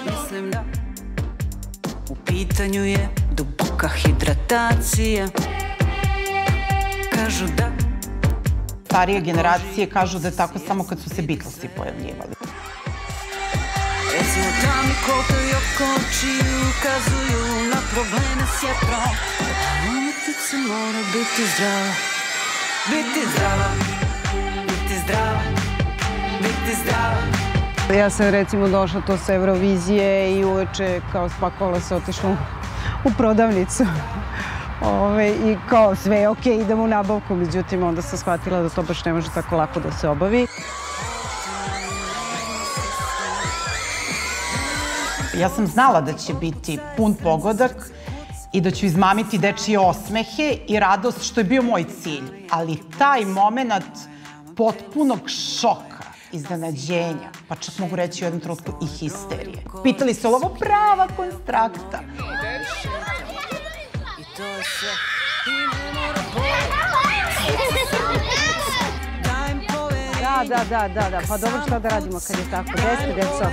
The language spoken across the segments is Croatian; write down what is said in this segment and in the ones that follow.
Mislim da u pitanju je duboka hidratacija. Kažu da starije generacije kažu da je tako samo kad su se Beatlesi pojavljivali. Recimo da mi kopaju oko očiju, ukazuju na probleme s jetrom. Umetnica mora biti zdrava, biti zdrava, biti zdrava, biti zdrava. Ja sam recimo došla to sa Eurovizije i uveče kao spakovala se otišla u prodavnicu. I kao sve je okej, idemo u nabavku, međutim onda sam shvatila da to baš ne može tako lako da se obavi. Ja sam znala da će biti pun pogodak i da ću izmamiti dečije osmehe i radost, što je bio moj cilj. Ali taj moment potpunog šoka, iznenađenja, pa čak mogu reći u jednom trenutku i histerije. Pitali se, ovo prava konstrakta? Da, pa dobro šta da radimo kad je tako. Gde ste, deco?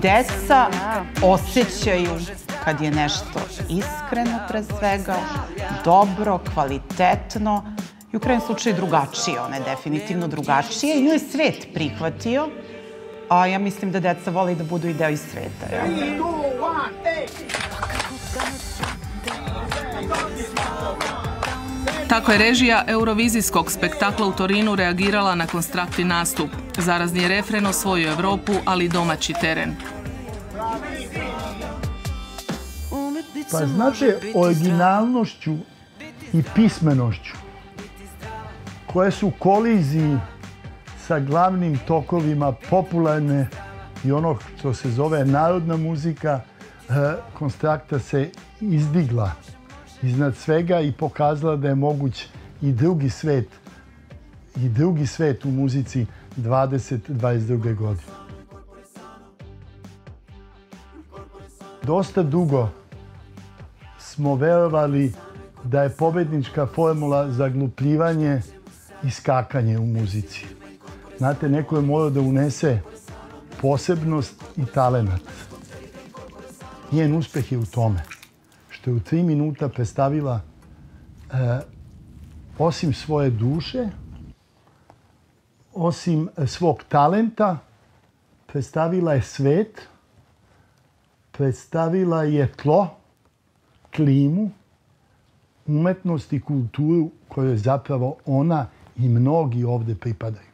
Deca osjećaju kad je nešto iskreno pre svega, dobro, kvalitetno i u krajnjem slučaju drugačije. Ona je definitivno drugačije i nju je svet prihvatio, a ja mislim da deca vole da budu i deo iz sveta. Tako je režija eurovizijskog spektakla u Torinu reagirala na konstrakti nastup. Zarazni refren osvojio Evropu, ali i domaći teren. Pa znate, originalnošću i pismenošću koje su u koliziji sa glavnim tokovima popularne i ono što se zove narodna muzika, konstrakta se izdigla iznad svega i pokazala da je moguć i drugi svet u muzici 2022. godine. Dosta dugo smo verovali da je pobednička formula zaglupljivanje i skakanje u muzici. Znate, neko je morao da unese posebnost i talenat. Njen uspeh je u tome što je u 3 minuta predstavila osim svoje duše, osim svog talenta, predstavila je svet, predstavila je tlo, klimu, umetnost i kulturu kojoj zapravo ona i mnogi ovdje pripadaju.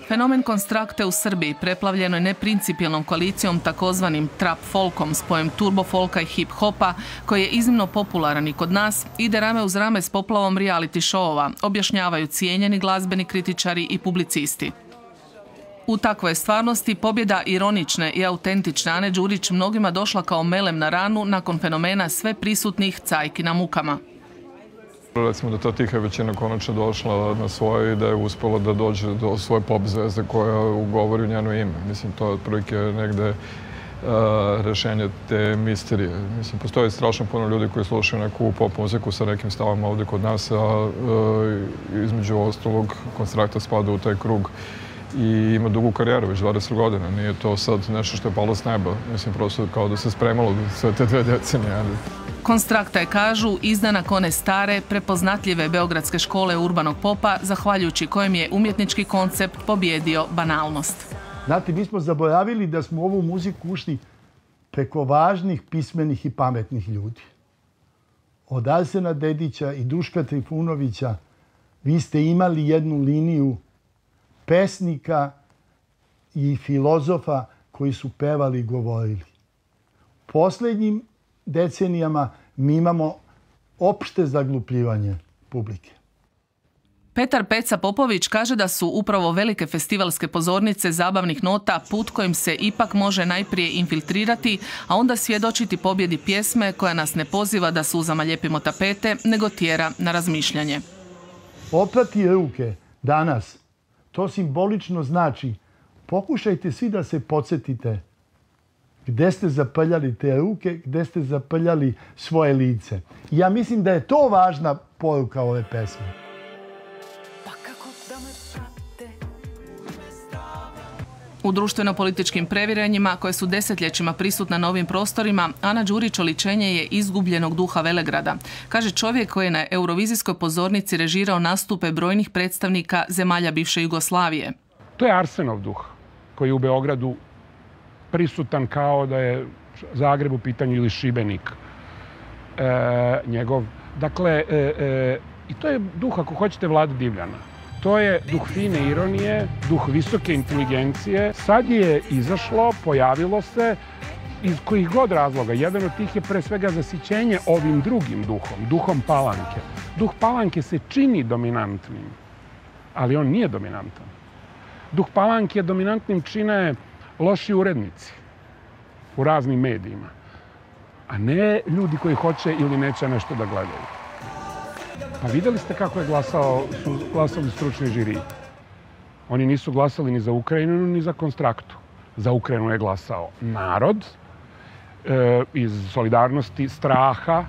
Fenomen konstrakte u Srbiji preplavljeno je neprincipijelnom koalicijom takozvanim trap folkom, spojem turbo folka i hip hopa, koji je iznimno popularan i kod nas, ide rame uz rame s poplavom reality showova, objašnjavaju cijenjeni glazbeni kritičari i publicisti. U takvoj stvarnosti pobjeda ironične i autentične Ane Đurić mnogima došla kao melem na ranu nakon fenomena sve prisutnih cajki na mukama. Recimo da ta tiha većina konačno došla na svoje i da je uspela da dođe do svoje pop zvezde koja ugovori u njeno ime. Mislim, to je otprilike negde rešenje te misterije. Mislim, postoji strašno puno ljudi koji slušaju neku pop muziku sa nekim stavama ovdje kod nas, a između ostalog konstrakta spada u taj krug i ima dugu karijeru, već 20 godina. Nije to sad nešto što je palo s neba. Mislim, prosto kao da se spremalo sve te 2 decenije. Konstrakta je, kažu, izdanak one stare, prepoznatljive beogradske škole urbanog popa, zahvaljujući kojem je umjetnički koncept pobjedio banalnost. Znate, mi smo zaboravili da smo u ovu muziku ušli preko važnih, pismenih i pametnih ljudi. Od Arsena Dedića i Duška Trifunovića vi ste imali jednu liniju pesnika i filozofa koji su pevali i govorili. Poslednjim decenijama mi imamo opšte zaglupljivanje publike. Petar Peca Popović kaže da su upravo velike festivalske pozornice zabavnih nota put kojim se ipak može najprije infiltrirati, a onda svjedočiti pobjedi pjesme koja nas ne poziva da suzama ljepimo tapete, nego tjera na razmišljanje. Oprati ruke danas, to simbolično znači pokušajte svi da se podsjetite gde ste zaprljali te ruke, gde ste zaprljali svoje lice. Ja mislim da je to važna poruka ove pesme. Pa kako da me prate, U društveno-političkim previranjima koje su desetljećima prisutna na ovim prostorima, Ana Đurić oličenje je izgubljenog duha Velegrada. Kaže čovjek koji je na eurovizijskoj pozornici režirao nastupe brojnih predstavnika zemalja bivše Jugoslavije. To je Arsenov duh koji je u Beogradu prisutan kao da je Zagreb u pitanju ili Šibenik njegov. Dakle, i to je duh, ako hoćete, Vlade Divljana. To je duh fine ironije, duh visoke inteligencije. Sad je izašlo, pojavilo se iz kojih god razloga. Jedan od tih je pre svega zasićenje ovim drugim duhom, duhom Palanke. Duh Palanke se čini dominantnim, ali on nije dominantan. Duh Palanke dominantnim čine loši urednici u raznim medijima, a ne ljudi koji hoće ili neće nešto da gledaju. Pa vidjeli ste kako su glasali stručni žiriji. Oni nisu glasali ni za Ukrajinu, ni za Konstraktu. Za Ukrajinu je glasao narod iz solidarnosti, straha.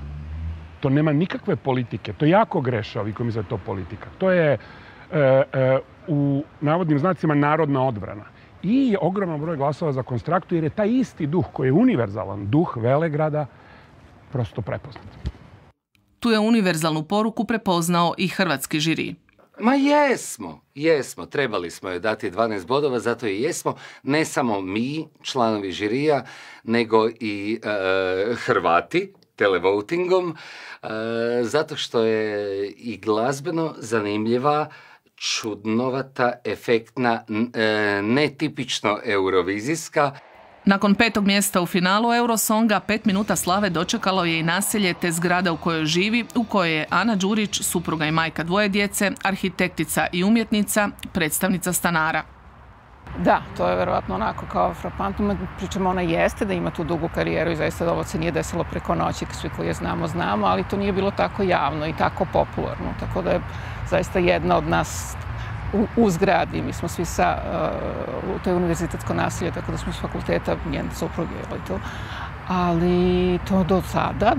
To nema nikakve politike. To jako greše ovi koji misle da je to politika. To je u navodnim znacima narodna odbrana. I ogroman broj glasova za Konstraktu jer je taj isti duh koji je univerzalan duh Velegrada prosto prepoznat. Tu je univerzalnu poruku prepoznao i hrvatski žiri. Ma jesmo. Trebali smo joj dati 12 bodova, zato i jesmo. Ne samo mi, članovi žirija, nego i Hrvati, televotingom, zato što je i glazbeno zanimljiva, čudnovata, efektna, netipično eurovizijska. Nakon 5. mjesta u finalu Eurosonga, 5 minuta slave dočekalo je i naselje te zgrada u kojoj živi, u kojoj je Ana Đurić, supruga i majka 2 djece, arhitektica i umjetnica, predstavnica stanara. Da, to je verovatno onako kao frapantno. Pričamo, ona jeste da ima tu dugu karijeru i zaista ovo se nije desilo preko noći, svi koji je znamo, ali to nije bilo tako javno i tako popularno. Tako da je zaista jedna od nas u zgradi. Mi smo svi to je univerzitetsko naselje, tako da smo s fakulteta, njene supruge, ali to do sada,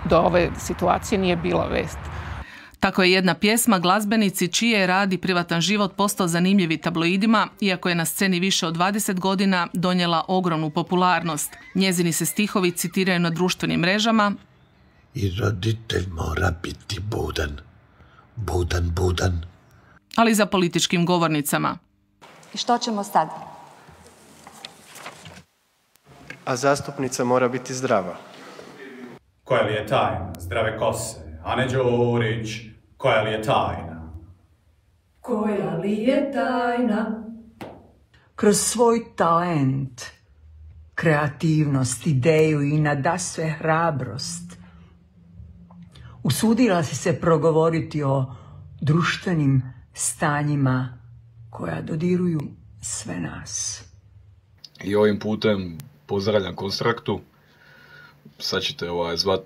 do ove situacije nije bila vest. Tako je jedna pjesma glazbenici čiji je rad i privatan život postao zanimljivi tabloidima, iako je na sceni više od 20 godina donijela ogromnu popularnost. Njezini se stihovi citiraju na društvenim mrežama. I roditelj mora biti budan. Budan. Ali za političkim govornicama. I što ćemo sad? A zastupnica mora biti zdrava. Koja li je tajna? Zdrave kose. Ane Đurić, koja li je tajna? Koja li je tajna? Kroz svoj talent, kreativnost, ideju i nadasve hrabrost usudila si se progovoriti o društvenim stanjima koja dodiruju sve nas. I ovim putem pozdravljam Konstraktu. Sad ćete zvat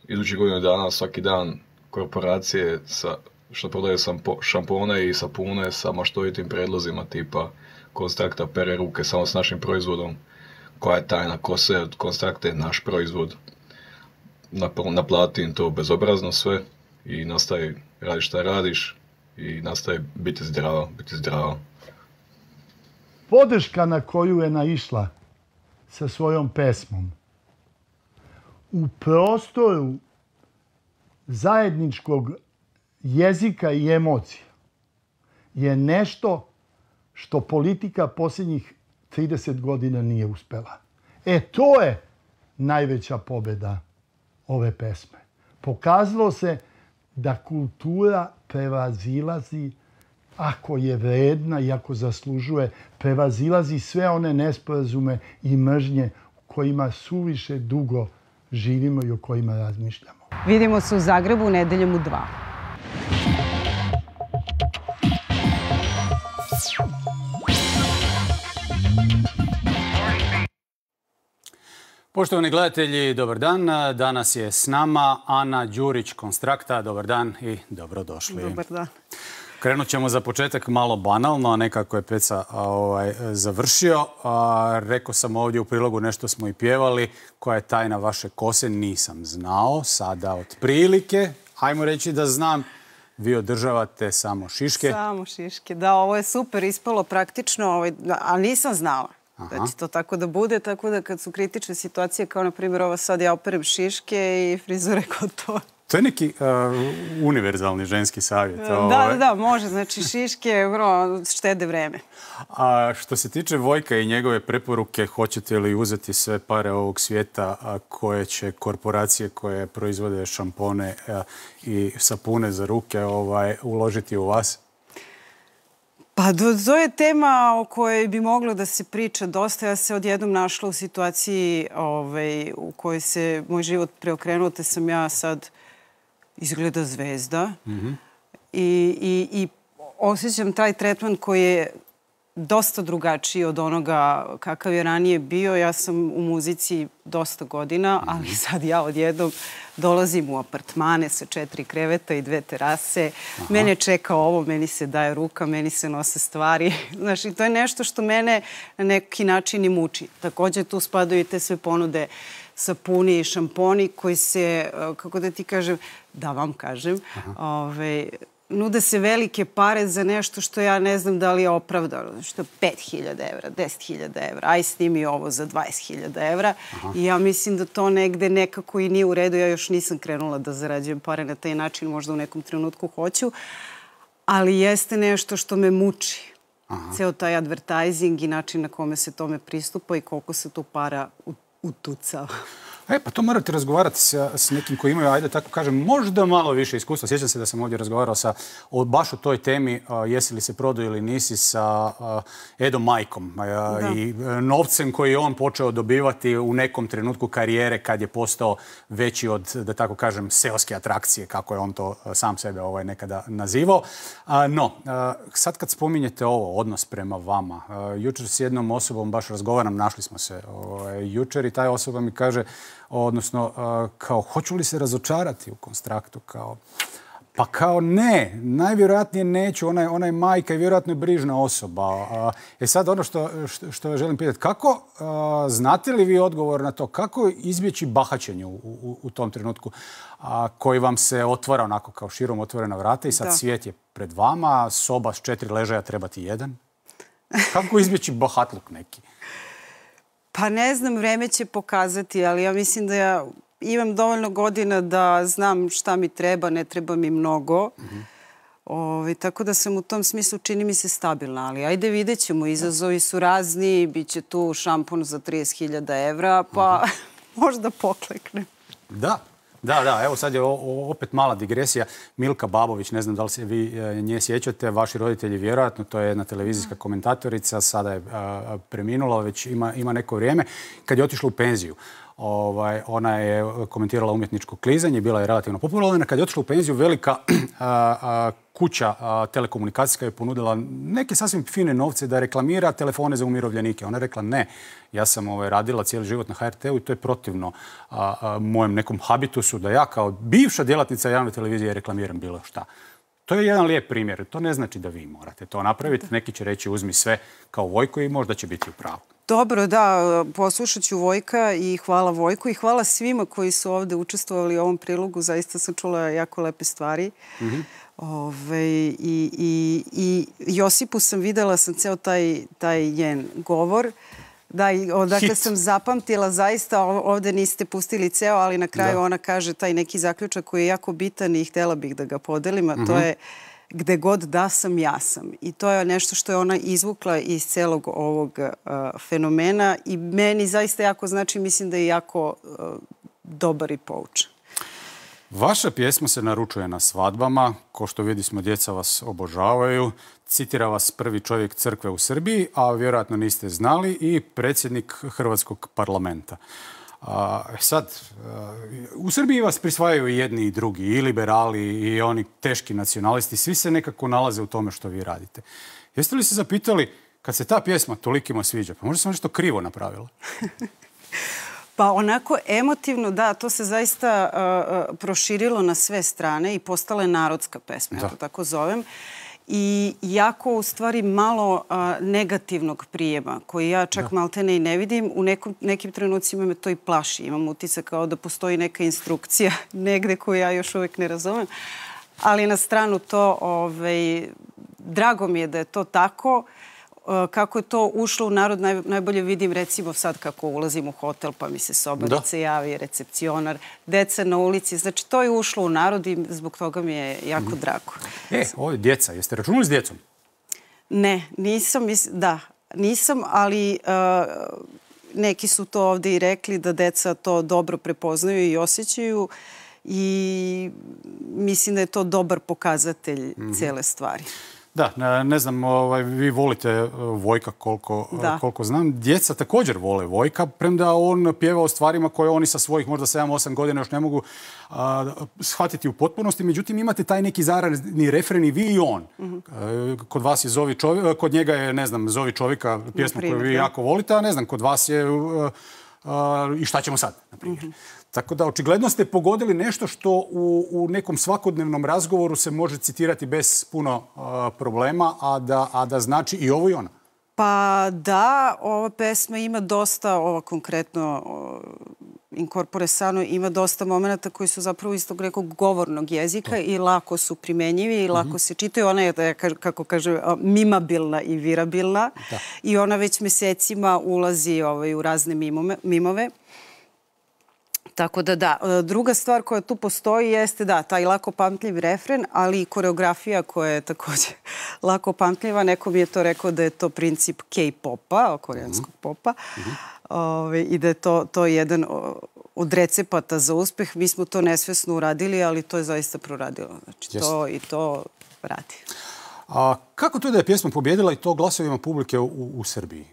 idućih godinu dana svaki dan korporacije što prodaju šampone i sapune sa maštovitim predlozima tipa Konstrakta pere ruke samo s našim proizvodom. Koja je tajna kose od Konstrakte, naš proizvod. Naplati im to bezobrazno sve i nastavi radi šta radiš i nastavi biti zdrava. Podrška na koju je naišla sa svojom pesmom u prostoru zajedničkog jezika i emocija je nešto što politika posljednjih 30 godina nije uspela. To je najveća pobjeda ove pesme. Pokazalo se da kultura prevazilazi, ako je vredna i ako zaslužuje, prevazilazi sve one nesporazume i mržnje u kojima suviše dugo živimo i o kojima razmišljamo. Vidimo se u Zagrebu nedeljom u 2. Poštovani gledatelji, dobar dan. Danas je s nama Ana Đurić, Konstrakta. Dobar dan i dobrodošli. Dobar dan. Krenut ćemo za početak malo banalno, a nekako je Peca završio. Rekao sam ovdje u prilogu, nešto smo i pjevali. Koja je tajna vaše kose? Nisam znao. Sada otprilike, ajmo reći da znam. vi održavate samo šiške. Samo šiške, da, ovo je super ispalo praktično, a nisam znala da će to tako da bude, tako da kad su kritične situacije, kao na primjer ova sad, ja operem šiške i frizure gotovo. To je neki univerzalni ženski savjet. Da, može. Znači, šiške štede vreme. A što se tiče Vojka i njegove preporuke, hoćete li uzeti sve pare ovog svijeta koje će korporacije koje proizvode šampone i sapune za ruke uložiti u vas? Pa to je tema o kojoj bi moglo da se priča dosta. Ja se odjednom našla u situaciji u kojoj se moj život preokrenuo, te sam ja sad izgleda zvezda i osjećam taj tretman koji je dosta drugačiji od onoga kakav je ranije bio. Ja sam u muzici dosta godina, ali sad ja odjednom dolazim u apartmane sa 4 kreveta i 2 terase. Mene čeka ovo, meni se daje ruka, meni se nose stvari. Znaš, i to je nešto što mene na neki način i muči. Također tu spadaju i te sve ponude sapuni i šamponi koji se, kako da ti kažem, da vam kažem, nude se velike pare za nešto što ja ne znam da li je opravdano. Što je 5.000 evra, 10.000 evra, aj snimi ovo za 20.000 evra. I ja mislim da to negde nekako i nije u redu. Ja još nisam krenula da zarađujem pare na taj način, možda u nekom trenutku hoću, ali jeste nešto što me muči. Ceo taj advertising i način na kome se tome pristupa i koliko se tu para utucava. Pa to morate razgovarati s nekim koji imaju, ajde tako kažem, možda malo više iskustva. Sjećam se da sam ovdje razgovarao baš o toj temi, jesi li se prodao ili nisi, sa Edom Majkom i novcem koji je on počeo dobivati u nekom trenutku karijere kad je postao veći od, da tako kažem, seoske atrakcije, kako je on to sam sebe nekada nazivao. No, sad kad spominjete ovo, odnos prema vama, jučer s jednom osobom baš razgovaram, našli smo se jučer i taj osoba mi kaže, odnosno, kao, hoću li se razočarati u Konstraktu, kao, pa kao ne, najvjerojatnije neću, ona je majka i vjerojatno je brižna osoba. Sad ono što želim pitati, kako, znate li vi odgovor na to, kako izbjeći bahaćenje u tom trenutku koji vam se otvara onako kao širom otvorena vrata i sad svijet je pred vama, soba s 4 ležaja, treba ti 1? Kako izbjeći bahatluk neki? Pa ne znam, vreme će pokazati, ali ja mislim da ja imam dovoljno godina da znam šta mi treba, ne treba mi mnogo. Tako da sam u tom smislu, čini mi se, stabilna. Ali ajde, vidjet ćemo, izazovi su razni, bit će tu šampon za 30.000 evra, pa možda pokleknem. Da, evo sad je opet mala digresija. Milka Babović, ne znam da li se vi nje sjećate, vaši roditelji vjerojatno, to je jedna televizijska komentatorica, sada je preminula, već ima neko vrijeme. Kad je otišla u penziju, ona je komentirala umjetničko klizanje, bila je relativno popularna. Kad je otišla u penziju, velika kuća telekomunikacijska je ponudila neke sasvim fine novce da reklamira telefone za umirovljenike. Ona je rekla ne, ja sam radila cijeli život na HRT-u i to je protivno mojem nekom habitusu da ja kao bivša djelatnica javne televizije reklamiram bilo šta. To je jedan lijep primjer. To ne znači da vi morate to napraviti. Neki će reći uzmi sve kao Vojko i možda će biti u pravu. Dobro, da, poslušat ću Vojka i hvala Vojku i hvala svima koji su ovdje učestvovali u ovom prilogu. Zaista sam čula jako lepe stvari. I Josipu sam videla, sam ceo taj njen govor. Da, odakle sam zapamtila, zaista ovdje niste pustili ceo, ali na kraju ona kaže taj neki zaključak koji je jako bitan i htjela bih da ga podelim, a to je gde god da sam, ja sam. I to je nešto što je ona izvukla iz celog ovog fenomena i meni zaista jako znači, mislim da je jako dobar i poučan. Vaša pjesma se naručuje na svadbama, ko što vidimo djeca vas obožavaju, citira vas prvi čovjek crkve u Srbiji, a vjerojatno niste znali, i predsjednik Hrvatskog parlamenta. Sad, u Srbiji vas prisvajaju i jedni i drugi, i liberali, i oni teški nacionalisti, svi se nekako nalaze u tome što vi radite. Jeste li se zapitali, kad se ta pjesma tolikima sviđa, pa možda sam nešto krivo napravila? Pa onako emotivno, da, to se zaista proširilo na sve strane i postala je narodska pesma, ja to tako zovem. I jako, u stvari, malo negativnog prijema, koji ja čak maltene i ne vidim. U nekim trenucima me to i plaši. Imam utisak kao da postoji neka instrukcija negde koju ja još uvijek ne razumem. Ali na stranu to, drago mi je da je to tako. Kako je to ušlo u narod, najbolje vidim recimo sad kako ulazim u hotel pa mi se sobarica javi, recepcionar, deca na ulici. Znači to je ušlo u narod i zbog toga mi je jako drago. Ovo je djeca. Jeste računali s djecom? Ne, nisam, ali neki su to ovdje i rekli da deca to dobro prepoznaju i osjećaju i mislim da je to dobar pokazatelj cijele stvari. Da, ne znam, vi volite Vojka koliko znam. Djeca također vole Vojka, premda on pjeva o stvarima koje oni sa svojih možda 7-8 godina još ne mogu shvatiti u potpunosti. Međutim, imate taj neki zarani refren i vi i on. Kod vas je Zovi čovjeka, kod njega je, ne znam, Zovi čovjeka, pjesma koju vi jako volite, a ne znam, kod vas je I šta ćemo sad, na primjer. Tako da, očigledno ste pogodili nešto što u nekom svakodnevnom razgovoru se može citirati bez puno problema, a da znači i ovo i ono. Pa da, ova pesma ima dosta, ova konkretno Incorpore Sano, ima dosta momenta koji su zapravo istog nekog govornog jezika i lako su primenjivi i lako se čitaju. Ona je, kako kaže, mimabilna i virabilna i ona već mesecima ulazi u razne mimove. Tako da da. Druga stvar koja tu postoji jeste da, taj lako pamtljiv refren, ali i koreografija koja je također lako pamtljiva. Neko mi je to rekao da je to princip K-popa, koreanskog popa, i da je to jedan od recepata za uspeh. Mi smo to nesvesno uradili, ali to je zaista proradilo. Znači, to i to radi. A kako to da je pjesma pobjedila i to glasovima publike u Srbiji?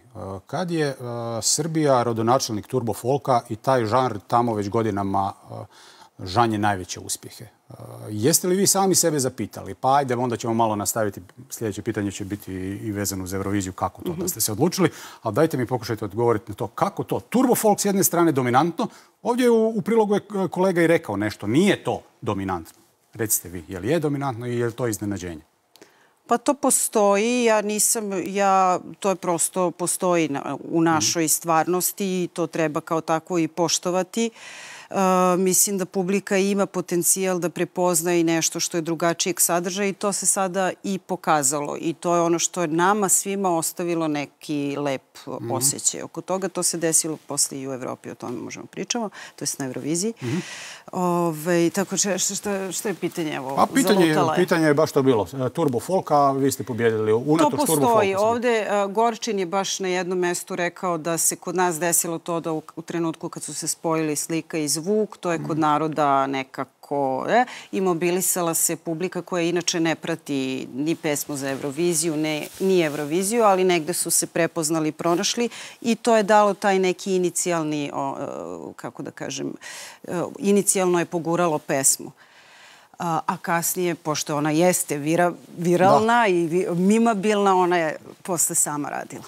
Kad je Srbija rodonačelnik turbo folka i taj žanr tamo već godinama žanje najveće uspjehe. Jeste li vi sami sebe zapitali? Pa ajde, onda ćemo malo nastaviti. Sljedeće pitanje će biti i vezano uz Euroviziju. Kako to da ste se odlučili? Ali dajte mi pokušajte odgovoriti na to. Kako to? Turbo folk s jedne strane dominantno. Ovdje u prilogu je kolega i rekao nešto. Nije to dominantno. Recite vi, je li je dominantno i je li to iznenađenje? Pa to postoji, to je prosto postoji u našoj stvarnosti i to treba kao tako i poštovati. Mislim da publika ima potencijal da prepozna i nešto što je drugačijeg sadržaja i to se sada i pokazalo. I to je ono što je nama svima ostavilo neki lep osjećaj. Oko toga to se desilo posle i u Evropi, o tome možemo pričamo, to je na Euroviziji. Tako što je pitanje? Pitanje je baš to bilo. Turbo folka, vi ste pobjedili unatoč turbo folka. To postoji. Ovdje Gorčin je baš na jednom mjestu rekao da se kod nas desilo to da u trenutku kad su se spojili slika i zvuk, to je kod naroda nekako i mobilisala se publika koja inače ne prati ni pesmu za Euroviziju, ni Euroviziju, ali negde su se prepoznali i pronašli i to je dalo taj neki inicijalni, kako da kažem, inicijalno je poguralo pesmu. A kasnije, pošto ona jeste viralna i mimabilna, ona je posle sama radila.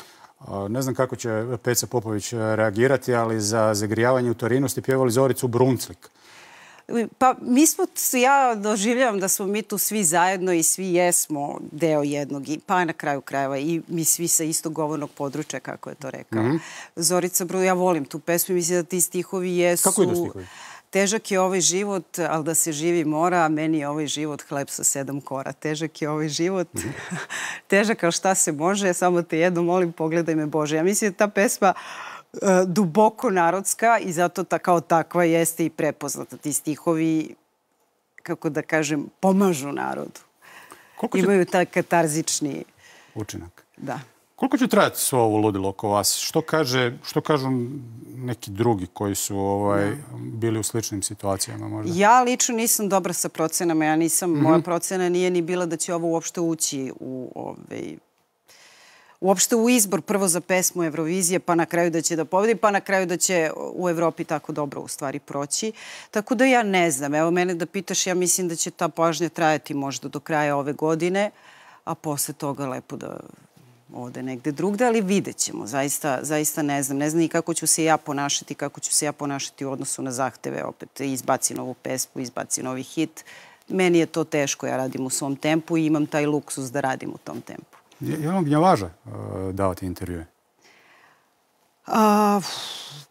Ne znam kako će Peca Popović reagirati, ali za zagrijavanje u Torinu ste pjevali Zoricu Brunclik. Pa ja doživljavam da smo mi tu svi zajedno i svi jesmo deo jednog, pa na kraju krajeva i mi svi sa istog govornog područja, kako je to rekao. Zorica Brunclik, ja volim tu pesmu i mislim da ti stihovi jesu... Kako idu stihovi? Težak je ovaj život, ali da se živi mora, a meni je ovaj život hleb sa 7 kora. Težak je ovaj život, težak kao šta se može, samo te jedno molim, pogledaj me Bože. Ja mislim da ta pesma duboko narodska i zato kao takva jeste i prepoznata. Ti stihovi, kako da kažem, pomažu narodu. Imaju taj katarzični učinak. Da. Koliko će trajati svo ovo ludilo oko vas? Što kažu neki drugi koji su bili u sličnim situacijama možda? Ja lično nisam dobra sa procenama. Moja procena nije ni bila da će ovo uopšte ući uopšte u izbor prvo za pesmu Eurovizije, pa na kraju da će da pobedi, pa na kraju da će u Evropi tako dobro u stvari proći. Tako da ja ne znam. Evo mene da pitaš, ja mislim da će ta pažnja trajati možda do kraja ove godine, a posle toga lepo da ode negde drugde, ali vidjet ćemo. Zaista ne znam. Ne znam i kako ću se ja ponašati u odnosu na zahteve. Opet izbaci novu pesmu, izbaci novi hit. Meni je to teško. Ja radim u svom tempu i imam taj luksus da radim u tom tempu. Je li vam gnjavaža davati intervjue?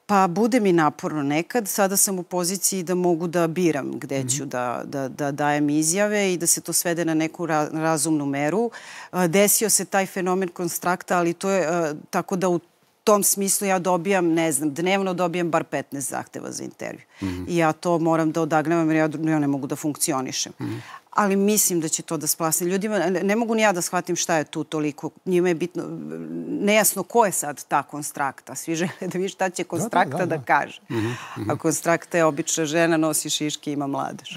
Pa bude mi naporno nekad. Sada sam u poziciji da mogu da biram gde ću da dajem izjave i da se to svede na neku razumnu meru. Desio se taj fenomen konstrakta, ali to je tako da u tom smislu ja dobijam, ne znam, dnevno dobijam bar 15 zahteva za intervju. I ja to moram da odagnavam jer ja ne mogu da funkcionišem. Ali mislim da će to da splasne ljudima. Ne mogu ni ja da shvatim šta je tu toliko. Njima je bitno, nejasno ko je sad ta konstrakta. Svi žele da vidi šta će konstrakta da kaže. A konstrakta je obična žena, nosi šiške, ima mladež.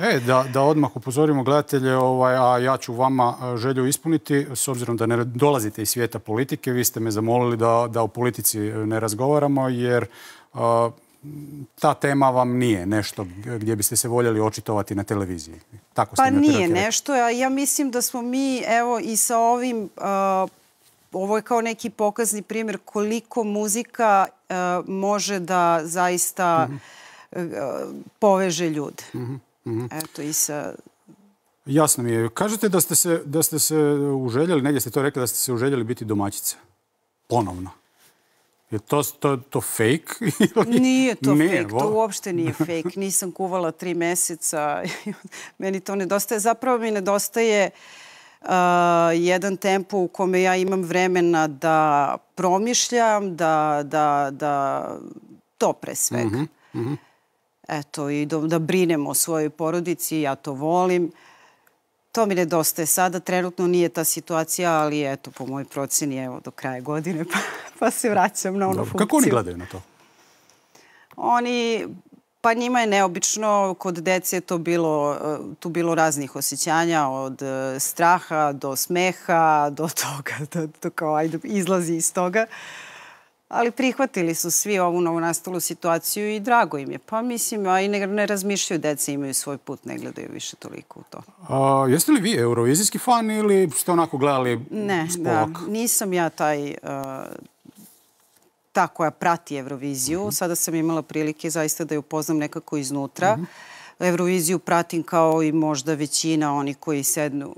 Da odmah upozorimo gledatelje, a ja ću vama želju ispuniti, s obzirom da ne dolazite iz svijeta politike, vi ste me zamolili da o politici ne razgovaramo, jer ta tema vam nije nešto gdje biste se voljeli očitovati na televiziji. Pa nije nešto. Ja mislim da smo mi, evo, i sa ovim, ovo je kao neki pokazni primjer koliko muzika može da zaista poveže ljude. Eto, i sa... Jasno mi je. Kažete da ste se uželjeli, negdje ste to rekli, da ste se uželjeli biti domaćica. Ponovno. Je to fake? Nije to fake, to uopšte nije fake. Nisam kuvala 3 meseca. Meni to nedostaje. Zapravo mi nedostaje jedan tempo u kome ja imam vremena da promišljam, da to pre svega. Eto, i da brinem o svojoj porodici, ja to volim. To mi nedostaje sada. Trenutno nije ta situacija, ali eto, po mojoj proceni, evo, do kraja godine, pa se vraćam na onu funkciju. Kako oni gledaju na to? Pa njima je neobično. Kod dece je tu bilo raznih osjećanja, od straha do smeha, do toga, to kao ajde, izlazi iz toga. Ali prihvatili su svi ovu novonastalu situaciju i drago im je. Pa mislim, a i ne razmišljaju, deca imaju svoj put, ne gledaju više toliko u to. Jeste li vi eurovizijski fan ili ste onako gledali spolak? Ne, nisam ja ta koja prati Euroviziju. Sada sam imala prilike zaista da ju upoznam nekako iznutra. Euroviziju pratim kao i možda većina onih koji sednu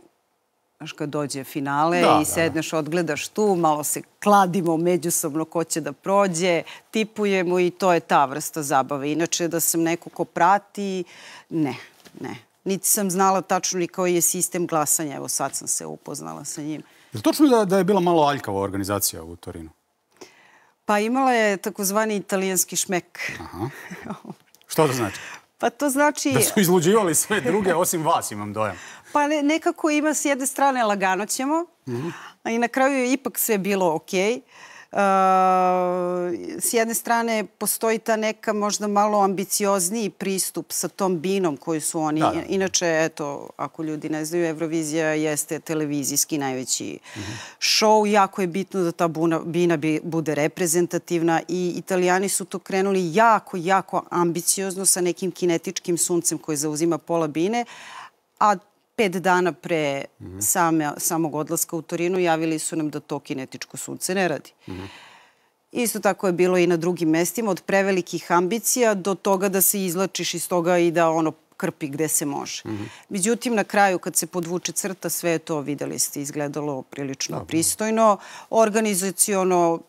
kad dođe finale i sedneš, odgledaš tu, malo se kladimo međusobno ko će da prođe, tipujemo i to je ta vrsta zabave. Inače, da sam neko ko prati, ne. Niti sam znala tačno ni koji je sistem glasanja. Evo sad sam se upoznala sa njim. Je li točno da je bila malo aljkava organizacija u Torinu? Pa imala je takozvani italijanski šmek. Što to znači? Pa to znači... Da su izluđivali sve druge, osim vas, imam dojam. Pa nekako ima s jedne strane lagano ćemo, a i na kraju je ipak sve bilo okej. S jedne strane postoji ta neka možda malo ambiciozniji pristup sa tom binom koju su oni... Inače, eto, ako ljudi ne znaju, Eurovizija jeste televizijski najveći šou. Jako je bitno da ta bina bude reprezentativna i Italijani su to krenuli jako ambiciozno sa nekim kinetičkim suncem koji zauzima pola bine, a 5 dana pre samog odlaska u Torinu javili su nam da to kinetičko sunce ne radi. Isto tako je bilo i na drugim mestima, od prevelikih ambicija do toga da se izlačiš iz toga i da ono krpi gde se može. Međutim, na kraju kad se podvuče crta, sve je to, videli ste, izgledalo prilično pristojno, organizaciono,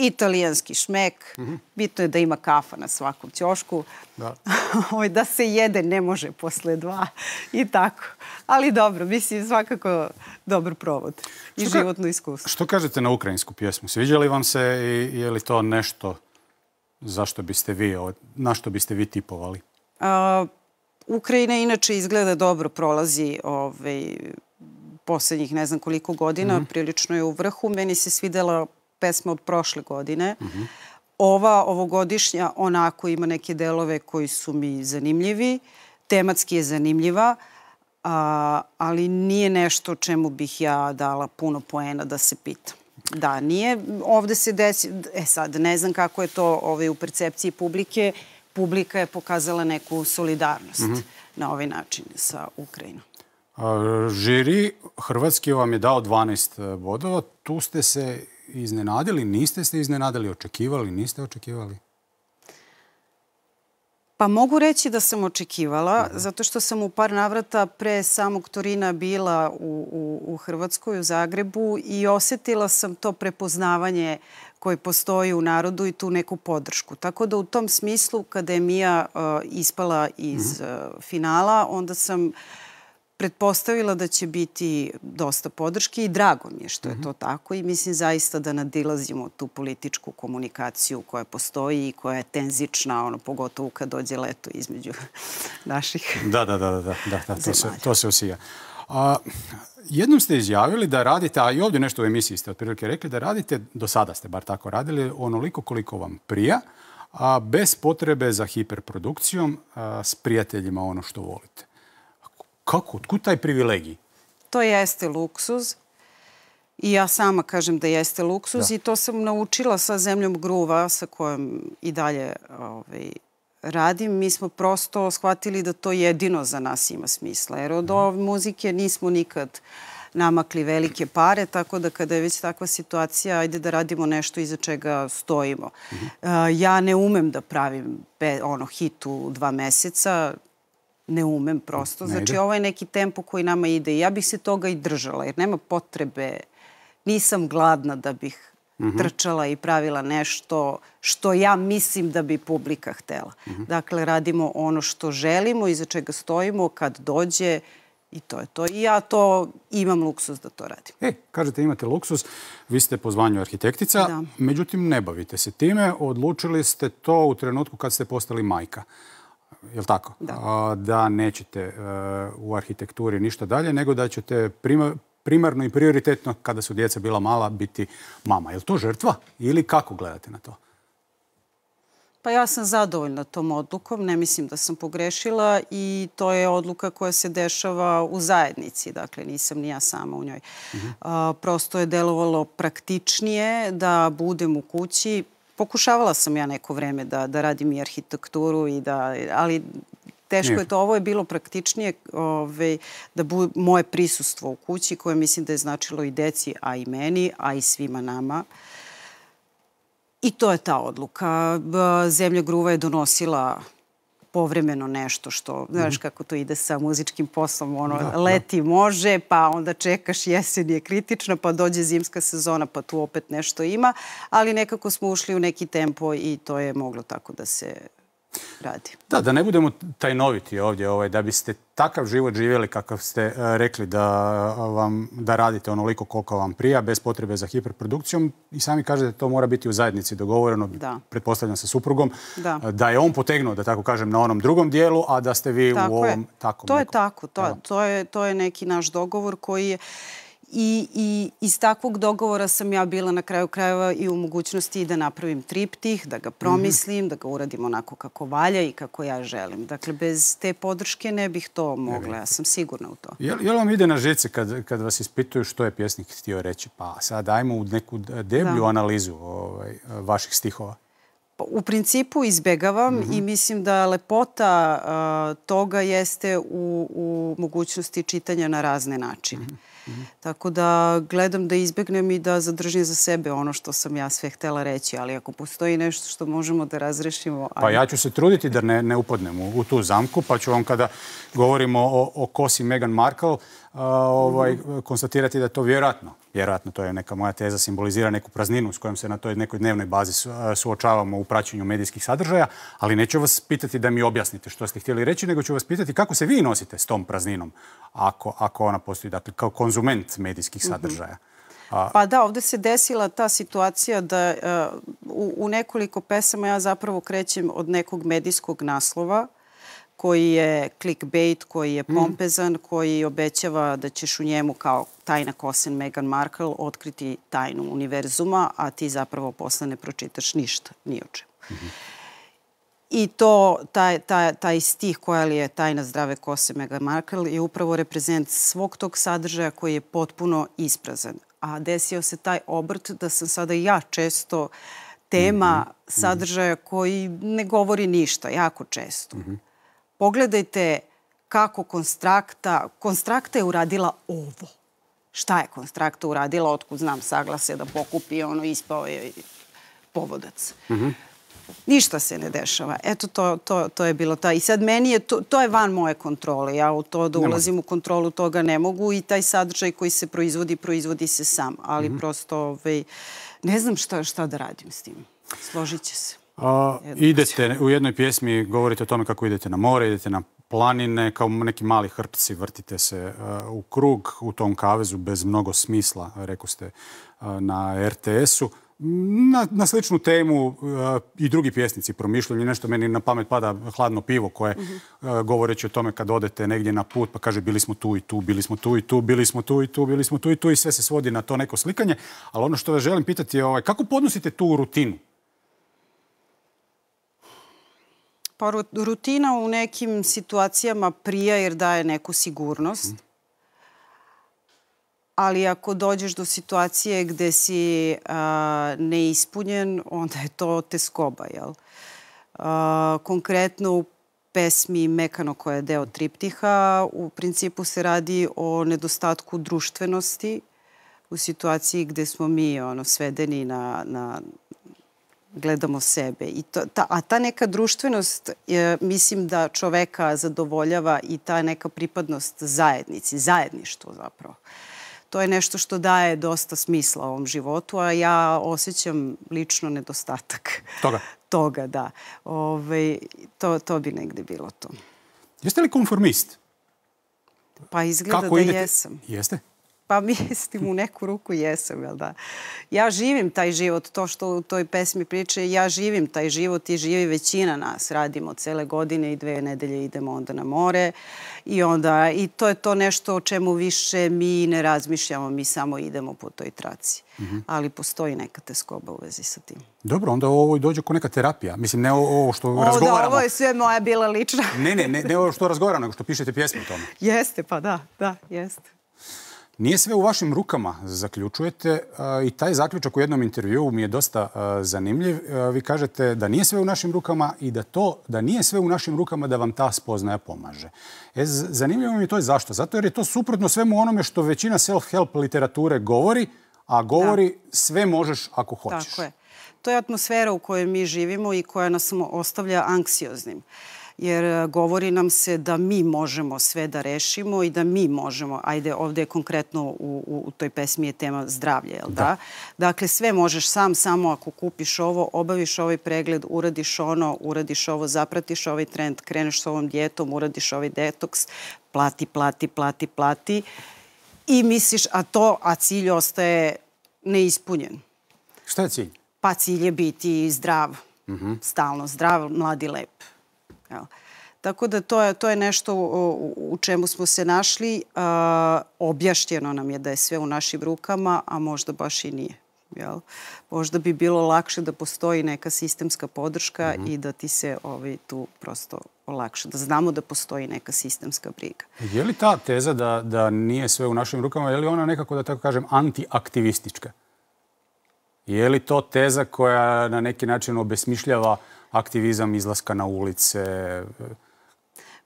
italijanski šmek, bitno je da ima kafa na svakom ćošku, da se jede ne može posle 2 i tako. Ali dobro, mislim, svakako dobar provod i životno iskustvo. Što kažete na ukrajinsku pjesmu? Sviđa li vam se i je li to nešto na što biste vi tipovali? Ukrajina inače izgleda dobro, prolazi posljednjih ne znam koliko godina, prilično je u vrhu. Meni se svidela pesma od prošle godine. Ovogodišnja onako ima neke delove koji su mi zanimljivi. Tematski je zanimljiva, ali nije nešto čemu bih ja dala puno poena da se pitam. Da, nije. Ovde se desi... sad, ne znam kako je to u percepciji publike. Publika je pokazala neku solidarnost na ovaj način sa Ukrajinom. Žiri hrvatski vam je dao 12 bodova. Tu ste se iznenadili, niste se iznenadili, očekivali, niste očekivali? Pa mogu reći da sam očekivala, zato što sam u par navrata pre samog Torina bila u Hrvatskoj, u Zagrebu i osjetila sam to prepoznavanje koje postoji u narodu i tu neku podršku. Tako da u tom smislu, kada je Mija ispala iz finala, onda sam pretpostavila da će biti dosta podrške i drago mi je što je to tako i mislim zaista da nadilazimo tu političku komunikaciju koja postoji i koja je tenzična, pogotovo kad dođe leto između naših to se osija. Jednom ste izjavili da radite, a i ovdje nešto u emisiji ste otprilike rekli, da radite, do sada ste bar tako radili, onoliko koliko vam prija, a bez potrebe za hiperprodukcijom, s prijateljima ono što volite. Kako? Otkud taj privilegij? To jeste luksuz i ja sama kažem da jeste luksuz i to sam naučila sa Zemljom gruva sa kojom i dalje radim. Mi smo prosto shvatili da to jedino za nas ima smisla. Jer od ove muzike nismo nikad namakli velike pare, tako da kada je već takva situacija, ajde da radimo nešto iza čega stojimo. Ja ne umem da pravim hit u 2 meseca, ne umem prosto. Znači, ovo je neki tempo koji nama ide i ja bih se toga i držala, jer nema potrebe, nisam gladna da bih trčala i pravila nešto što ja mislim da bi publika htela. Dakle, radimo ono što želimo, iza čega stojimo, kad dođe i to je to. I ja to imam luksuz da to radim. Kažete imate luksuz, vi ste po zvanju arhitektica, međutim ne bavite se time, odlučili ste to u trenutku kad ste postali majka. Je li tako? Da nećete u arhitekturi ništa dalje, nego da ćete primarno i prioritetno, kada su djeca bila mala, biti mama. Je li to žrtva ili kako gledate na to? Pa ja sam zadovoljna tom odlukom, ne mislim da sam pogrešila i to je odluka koja se dešava u zajednici, dakle nisam ni ja sama u njoj. Prosto je delovalo praktičnije da budem u kući. Pokušavala sam ja neko vreme da radim i arhitekturu, ali teško je to. Ovo je bilo praktičnije da bude moje prisustvo u kući koje mislim da je značilo i deci, a i meni, a i svima nama. I to je ta odluka. Zemlja gruva je donosila povremeno nešto što, znaš kako to ide sa muzičkim poslom, leti može, pa onda čekaš, jesen je kritična, pa dođe zimska sezona, pa tu opet nešto ima, ali nekako smo ušli u neki tempo i to je moglo tako da se radi. Da ne budemo tajnoviti ovdje, da biste takav život živjeli kakav ste rekli da radite onoliko koliko vam prija, bez potrebe za hiperprodukcijom i sami kažete to mora biti u zajednici dogovoreno, pretpostavljam sa suprugom, da je on potegnuo, da tako kažem, na onom drugom dijelu, a da ste vi u ovom takom. To je tako, to je neki naš dogovor koji je i iz takvog dogovora sam ja bila na kraju krajeva i u mogućnosti da napravim triptih, da ga promislim, da ga uradim onako kako valja i kako ja želim. Dakle, bez te podrške ne bih to mogla, ja sam sigurna u to. Je li vam ide na žice kad vas ispituju što je pjesnik htio reći? Pa sad dajmo u neku deblju analizu vaših stihova. U principu izbegavam i mislim da lepota toga jeste u mogućnosti čitanja na razne načine. Tako da gledam da izbegnem i da zadržim za sebe ono što sam ja sve htjela reći, ali ako postoji nešto što možemo da razrešimo... Pa ja ću se truditi da ne upadnem u tu zamku, pa ću vam kada govorimo o kosi Meghan Markle konstatirati da je to vjerojatno, to je neka moja teza, simbolizira neku prazninu s kojom se na toj nekoj dnevnoj bazi suočavamo u praćenju medijskih sadržaja, ali neću vas pitati da mi objasnite što ste htjeli reći, nego ću vas pitati kako se vi nosite s tom prazninom, ako ona postoji, dakle, kao konzument medijskih sadržaja. Pa da, ovdje se desila ta situacija da u nekoliko pesama ja zapravo krećem od nekog medijskog naslova koji je clickbait, koji je pompezan, koji obećava da ćeš u njemu kao tajna kosen Meghan Markle otkriti tajnu univerzuma, a ti zapravo posle ne pročitaš ništa, ni o čemu. I taj stih koja li je tajna zdrave kose Meghan Markle je upravo reprezent svog tog sadržaja koji je potpuno isprazan. A desio se taj obrt da sam sada ja često tema sadržaja koji ne govori ništa, jako često. Pogledajte kako Konstrakta je uradila ovo. Šta je Konstrakta uradila? Otkud znam saglase da pokupi, ispao je povodac. Ništa se ne dešava. Eto, to je bilo ta. I sad meni je, to je van moje kontrole. Ja u to da ulazim u kontrolu toga ne mogu i taj sadržaj koji se proizvodi se sam. Ali prosto, ne znam šta da radim s tim. Složit će se. Idete, u jednoj pjesmi govorite o tome kako idete na more, idete na planine, kao neki mali hrpci, vrtite se u krug u tom kavezu bez mnogo smisla, rekao ste na RTS-u. Na sličnu temu i drugi pjesnici promišljaju. Nešto meni na pamet pada Hladno pivo koje govoreći o tome kad odete negdje na put pa kaže bili smo tu i tu, bili smo tu i tu, bili smo tu i tu, bili smo tu i tu i sve se svodi na to neko slikanje. Ali ono što vas želim pitati je kako podnosite tu rutinu? Pa rutina u nekim situacijama prija jer daje neku sigurnost. Ali ako dođeš do situacije gde si neispunjen, onda je to teskoba, jel? Konkretno u pesmi Mekano koja je deo triptiha, u principu se radi o nedostatku društvenosti u situaciji gde smo mi svedeni na gledamo sebe. A ta neka društvenost, mislim da čoveka zadovoljava i ta neka pripadnost zajednici, zajedništvo zapravo. To je nešto što daje dosta smisla ovom životu, a ja osjećam lično nedostatak toga, da. To bi negde bilo to. Jeste li konformist? Pa izgleda da jesam. Jeste? Pa mislim u neku ruku jesam, jel da? Ja živim taj život, to što u toj pesmi priče, ja živim taj život i živi većina nas. Radimo cele godine i 2 nedelje idemo onda na more i to je to nešto o čemu više mi ne razmišljamo, mi samo idemo po toj traci. Ali postoji neka teskoba u vezi sa tim. Dobro, onda ovo dođe kao neka terapija. Mislim, ne ovo što razgovaramo. Da, ovo je sve moja bila lična. Ne ovo što razgovaramo, nego što pišete pjesme o tome. Jeste, pa da, jeste. Nije sve u vašim rukama, zaključujete, i taj zaključak u jednom intervjuu mi je dosta zanimljiv. Vi kažete da nije sve u našim rukama i da nije sve u našim rukama da vam ta spoznaja pomaže. Zanimljivo mi je to je zašto? Zato jer je to suprotno svemu onome što većina self-help literature govori, a govori sve možeš ako hoćeš. Tako je. To je atmosfera u kojoj mi živimo i koja nas ostavlja anksioznim. Jer govori nam se da mi možemo sve da rešimo i da mi možemo, ajde ovdje je konkretno u toj pesmi je tema zdravlje, jel da? Dakle, sve možeš sam, samo ako kupiš ovo, obaviš ovaj pregled, uradiš ono, uradiš ovo, zapratiš ovaj trend, kreneš s ovom dijetom, uradiš ovaj detoks, plati i misliš, a cilj ostaje neispunjen. Šta je cilj? Pa cilj je biti zdrav, stalno zdrav, mlad i lep. Tako da to je nešto u čemu smo se našli. Objašnjeno nam je da je sve u našim rukama, a možda baš i nije. Možda bi bilo lakše da postoji neka sistemska podrška i da ti se tu prosto olakša. Da znamo da postoji neka sistemska briga. Je li ta teza da nije sve u našim rukama, je li ona nekako, da tako kažem, antiaktivistička? Je li to teza koja na neki način obesmišljava aktivizam, izlaska na ulice,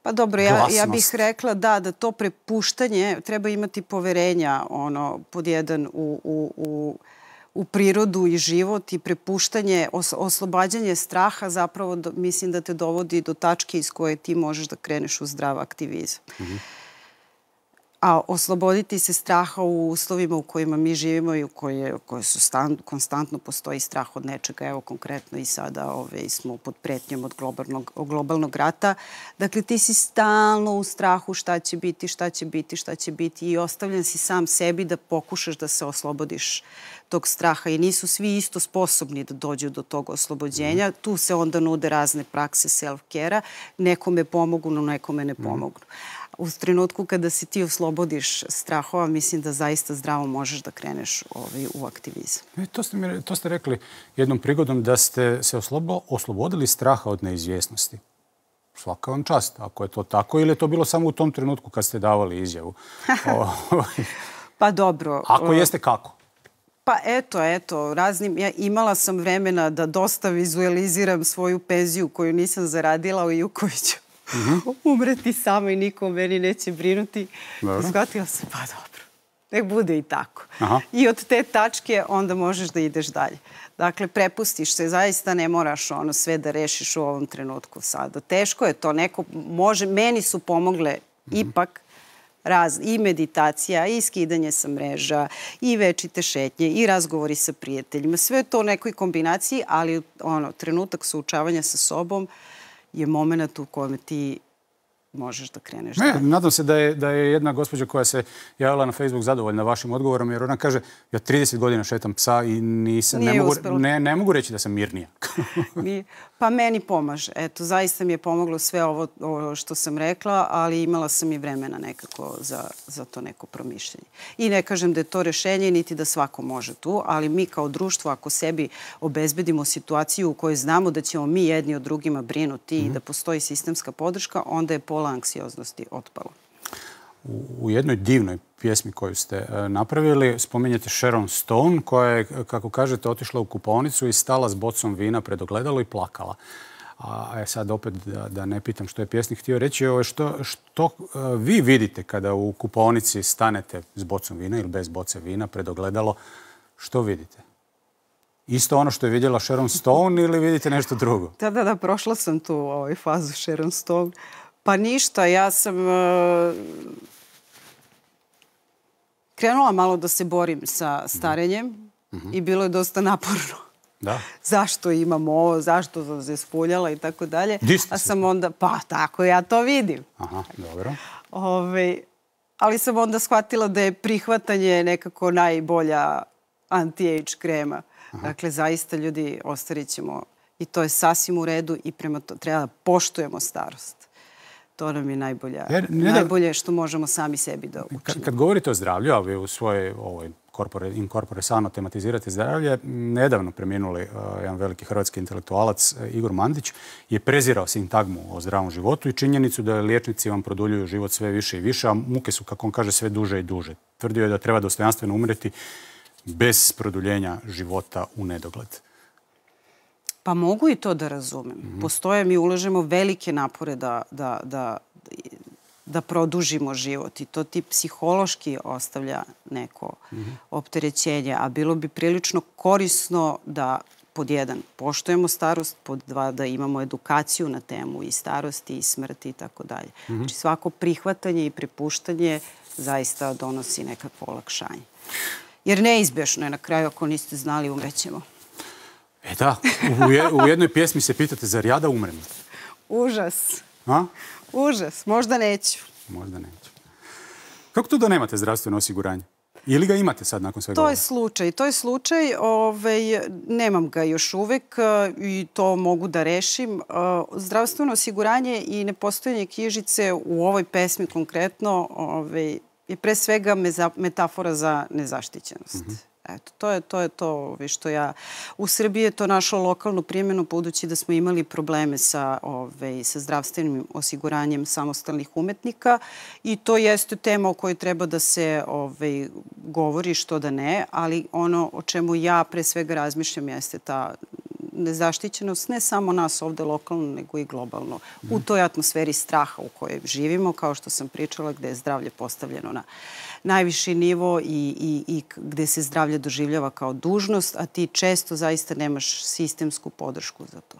pa dobro, ja bih rekla da to prepuštanje, treba imati poverenja pod jedan u prirodu i život i prepuštanje, oslobađanje straha zapravo mislim da te dovodi do tačke iz koje ti možeš da kreneš u zdrav aktivizam. A osloboditi se straha u uslovima u kojima mi živimo i u koje su konstantno postoji strah od nečega. Evo konkretno i sada smo pod pretnjom od globalnog rata. Dakle, ti si stalno u strahu šta će biti i ostavljen si sam sebi da pokušaš da se oslobodiš tog straha i nisu svi isto sposobni da dođu do tog oslobođenja. Tu se onda nude razne prakse self-care-a. Nekome pomognu, nekome ne pomognu. U trenutku kada se ti oslobodiš strahova, mislim da zaista zdravo možeš da kreneš u aktivizam. To ste rekli jednom prigodom da ste se oslobodili straha od neizvjesnosti. Svaka vam čast, ako je to tako, ili je to bilo samo u tom trenutku kad ste davali izjavu? Pa dobro. Ako jeste, kako? Pa eto, imala sam vremena da dosta vizualiziram svoju penziju koju nisam zaradila i u kojoj ću umreti sama i niko meni neće brinuti. Shvatila sam, pa dobro. nek bude i tako. Aha. I od te tačke onda možeš da ideš dalje. Dakle, prepustiš se, zaista ne moraš sve da rešiš u ovom trenutku sada. Teško je to, neko može, meni su pomogle ipak i meditacija, i skidanje sa mreža, i večite šetnje, i razgovori sa prijateljima. Sve je to u nekoj kombinaciji, ali trenutak suočavanja sa sobom je moment u kojem ti možeš da kreneš. Nadam se da je jedna gospođa koja se javila na Facebook zadovoljna vašim odgovorom, jer ona kaže, ja 30 godina šetam psa i ne mogu reći da sam mirnija. Pa meni pomaže. Eto, zaista mi je pomoglo sve ovo što sam rekla, ali imala sam i vremena nekako za to neko promišljanje. I ne kažem da je to rešenje, niti da svako može tu, ali mi kao društvo, ako sebi obezbedimo situaciju u kojoj znamo da ćemo mi jedni od drugima brinuti i da postoji sistemska podrška, onda je pola anksioznosti otpalo. U jednoj divnoj pjesmi koju ste napravili spominjete Sharon Stone, koja je, kako kažete, otišla u kupaonicu i stala s bocom vina pred ogledalo i plakala. A sad opet da ne pitam što je pjesnik htio reći, što vi vidite kada u kupaonici stanete s bocom vina ili bez boce vina pred ogledalo, što vidite? Isto ono što je vidjela Sharon Stone ili vidite nešto drugo? Da, prošla sam tu fazu Sharon Stone. Pa ništa, ja sam krenula malo da se borim sa starenjem i bilo je dosta naporno. Da. Zašto imam ovo, zašto sam se spuljala i tako dalje. A sam onda, pa tako ja to vidim. Aha, dobro. Ali sam onda shvatila da je prihvatanje nekako najbolja anti-age krema. Dakle, zaista ljudi ostarit ćemo i to je sasvim u redu i prema to treba da poštujemo starost. To nam je najbolje što možemo sami sebi da učinimo. Kad govorite o zdravlju, a vi u svojoj in corpore sano tematizirate zdravlje, nedavno preminuli jedan veliki hrvatski intelektualac Igor Mandić je prezirao sintagmu o zdravom životu i činjenicu da liječnici vam produljuju život sve više i više, a muke su, kako on kaže, sve duže i duže. Tvrdio je da treba dostojanstveno umreti bez produljenja života u nedogled. Pa mogu i to da razumem. Postoje, mi ulažemo velike napore da produžimo život i to ti psihološki ostavlja neko opterećenje, a bilo bi prilično korisno da pod jedan poštujemo starost, pod dva da imamo edukaciju na temu i starosti i smrti i tako dalje. Znači svako prihvatanje i prepuštanje zaista donosi nekakvo olakšanje. Jer neizbješno je na kraju, ako niste znali, umrećemo. Da, u jednoj pjesmi se pitate, zar ja da umrem? Užas. Užas, možda neću. Možda neću. Kako to da nemate zdravstveno osiguranje? Ili ga imate sad nakon svega? To je slučaj. Nemam ga još uvek i to mogu da rešim. Zdravstveno osiguranje i nepostojanje knjižice u ovoj pesmi konkretno je pre svega metafora za nezaštićenost. Eto, to je to što ja... U Srbiji je to našlo lokalnu primjenu, budući da smo imali probleme sa zdravstvenim osiguranjem samostalnih umetnika i to jeste tema o kojoj treba da se govori, što da ne, ali ono o čemu ja pre svega razmišljam jeste ta nezaštićenost ne samo nas ovde lokalno, nego i globalno. U toj atmosferi straha u kojoj živimo, kao što sam pričala, gde je zdravlje postavljeno na najviši nivo i gde se zdravlje doživljava kao dužnost, a ti često zaista nemaš sistemsku podršku za to.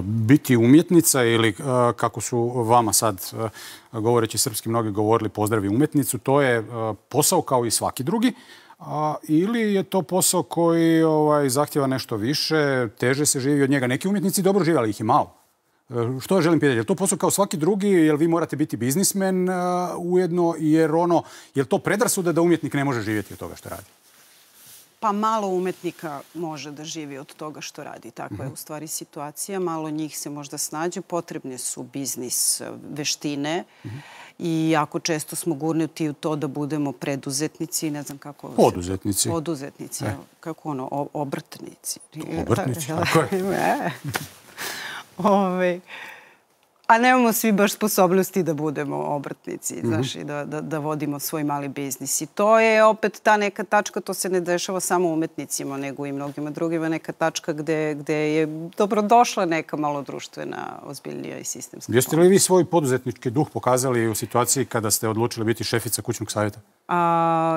Biti umjetnica ili kako su vama sad, govoreći srpski, mnogi govorili pozdravi umjetnicu, to je posao kao i svaki drugi, ili je to posao koji zahtjeva nešto više, teže se živi od njega? Neki umjetnici dobro žive, ali ih je malo. Što ja želim pitati? Je li to posao kao svaki drugi? Je li vi morate biti biznismen ujedno? Je li to predrasuda da umjetnik ne može živjeti od toga što radi? Pa malo umetnika može da živi od toga što radi. Takva je u stvari situacija. Malo njih se možda snađu. Potrebne su biznis veštine i jako često smo gurnuti u to da budemo preduzetnici, ne znam kako... Poduzetnici. Poduzetnici, kako obrtnici. Obrtnici, tako je. A nemamo svi baš sposobnosti da budemo obrtnici, znaš, i da vodimo svoj mali biznis. I to je opet ta neka tačka, to se ne dešava samo umetnicima, nego i mnogima drugima, neka tačka gde je dobrodošla neka malo društvena, ozbiljnija i sistemska. Jeste li vi svoj poduzetnički duh pokazali u situaciji kada ste odlučili biti šefica kućnog savjeta?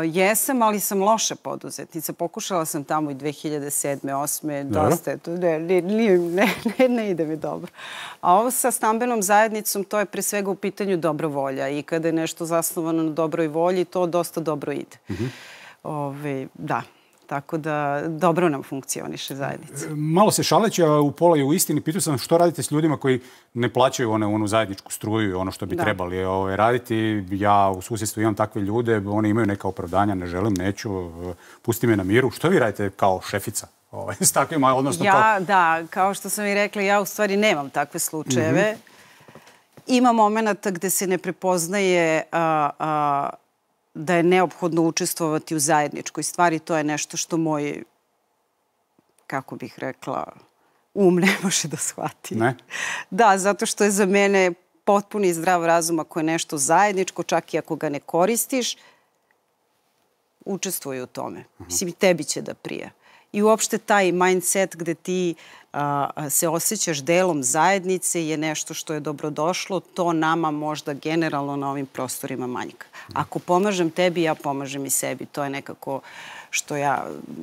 Jesam, ali sam loša poduzetnica. Pokušala sam tamo i 2007. 2008. Dosta je to. Ne ide mi dobro. A ovo sa stambenom zajednicom, to je pre svega u pitanju dobra volja. I kada je nešto zasnovano na dobroj volji, to dosta dobro ide. Da. Tako da dobro nam funkcioniše zajednica. Malo se šaleći, a u pola i u istini, pitao sam što radite s ljudima koji ne plaćaju onu zajedničku struju i ono što bi trebali raditi. Ja u susjedstvu imam takve ljude, oni imaju neka opravdanja, ne želim, neću, pusti me na miru. Što vi radite kao šefica s takvima? Da, kao što sam i rekla, ja u stvari nemam takve slučajeve. Ima momenta gde se ne prepoznaje da je neophodno učestvovati u zajedničkoj stvari. To je nešto što moj, kako bih rekla, ne može da shvati. Ne? Da, zato što je za mene potpuni zdrav razum ako je nešto zajedničko, čak i ako ga ne koristiš, učestvuj u tome. Mislim, i tebi će da prija. I uopšte taj mindset gde ti se osjećaš delom zajednice je nešto što je dobrodošlo. To nama možda generalno na ovim prostorima manjka. Ako pomažem tebi, ja pomažem i sebi. To je nekako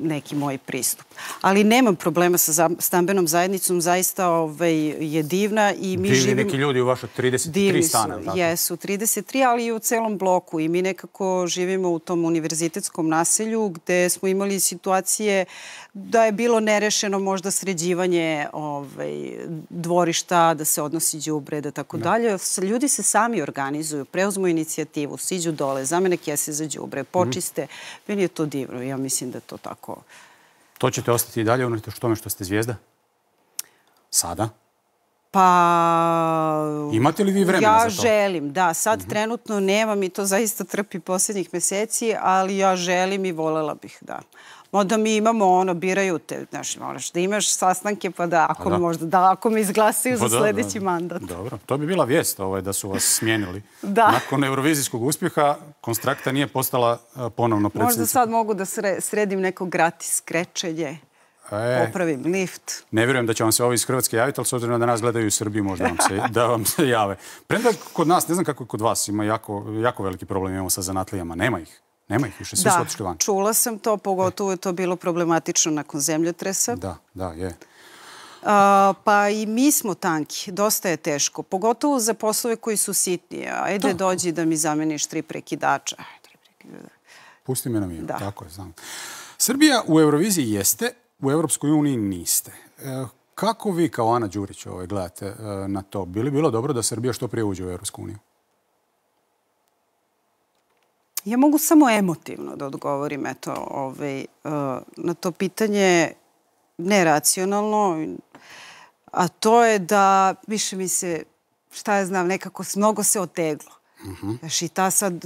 neki moj pristup. Ali nemam problema sa stambenom zajednicom. Zaista je divna i mi živimo... Divni neki ljudi u vašoj 33 stana. Jesu, 33, ali i u celom bloku. I mi nekako živimo u tom univerzitetskom naselju gde smo imali situacije da je bilo nerešeno možda sređivanje dvorišta, da se odnosi đubre, da tako dalje. Ljudi se sami organizuju, preuzmu inicijativu, siđu dole, zamene kese za đubre, počiste. Meni je to divno. Ja mislim da je to tako. To ćete ostati i dalje unatoč tome što ste zvijezda? Sada? Pa... Imate li vi vremena za to? Ja želim, da. Sad trenutno nemam i to zaista trpi posljednjih meseci, ali ja želim i volela bih, da. Onda mi imamo biraju te, znaš, moraš da imaš sastanke, pa da, ako me izglasaju za sljedeći mandat. Dobro, to bi bila vijest da su vas smijenili. Nakon eurovizijskog uspjeha, Konstrakta nije postala ponovno predsjednica. Možda sad mogu da sredim neko gratis krečenje, popravim lift. Ne vjerujem da će vam se ovi iz Hrvatske javiti, ali s obzirom da nas gledaju u Srbiji, možda da vam se jave. Premda kod nas, ne znam kako je kod vas, ima jako veliki problem imamo sa zanatlijama, nema ih. Nema ih više, svi su otišli van. Da, čula sam to, pogotovo je to bilo problematično nakon zemljotresa. Da, je. Pa i mi smo tanki, dosta je teško, pogotovo za poslove koji su sitniji. Ajde, dođi da mi zameniš 3 prekidača. Pusti me na miru, tako je, znam. Srbija u Euroviziji jeste, u Europskoj uniji niste. Kako vi kao Ana Đurić gledate na to? Bi li bilo dobro da Srbija što prije uđe u Europsku uniju? Ja mogu samo emotivno da odgovorim na to pitanje, neracionalno, a to je da više mi se, šta ja znam, nekako mnogo se oteglo. Znaš, i ta sad,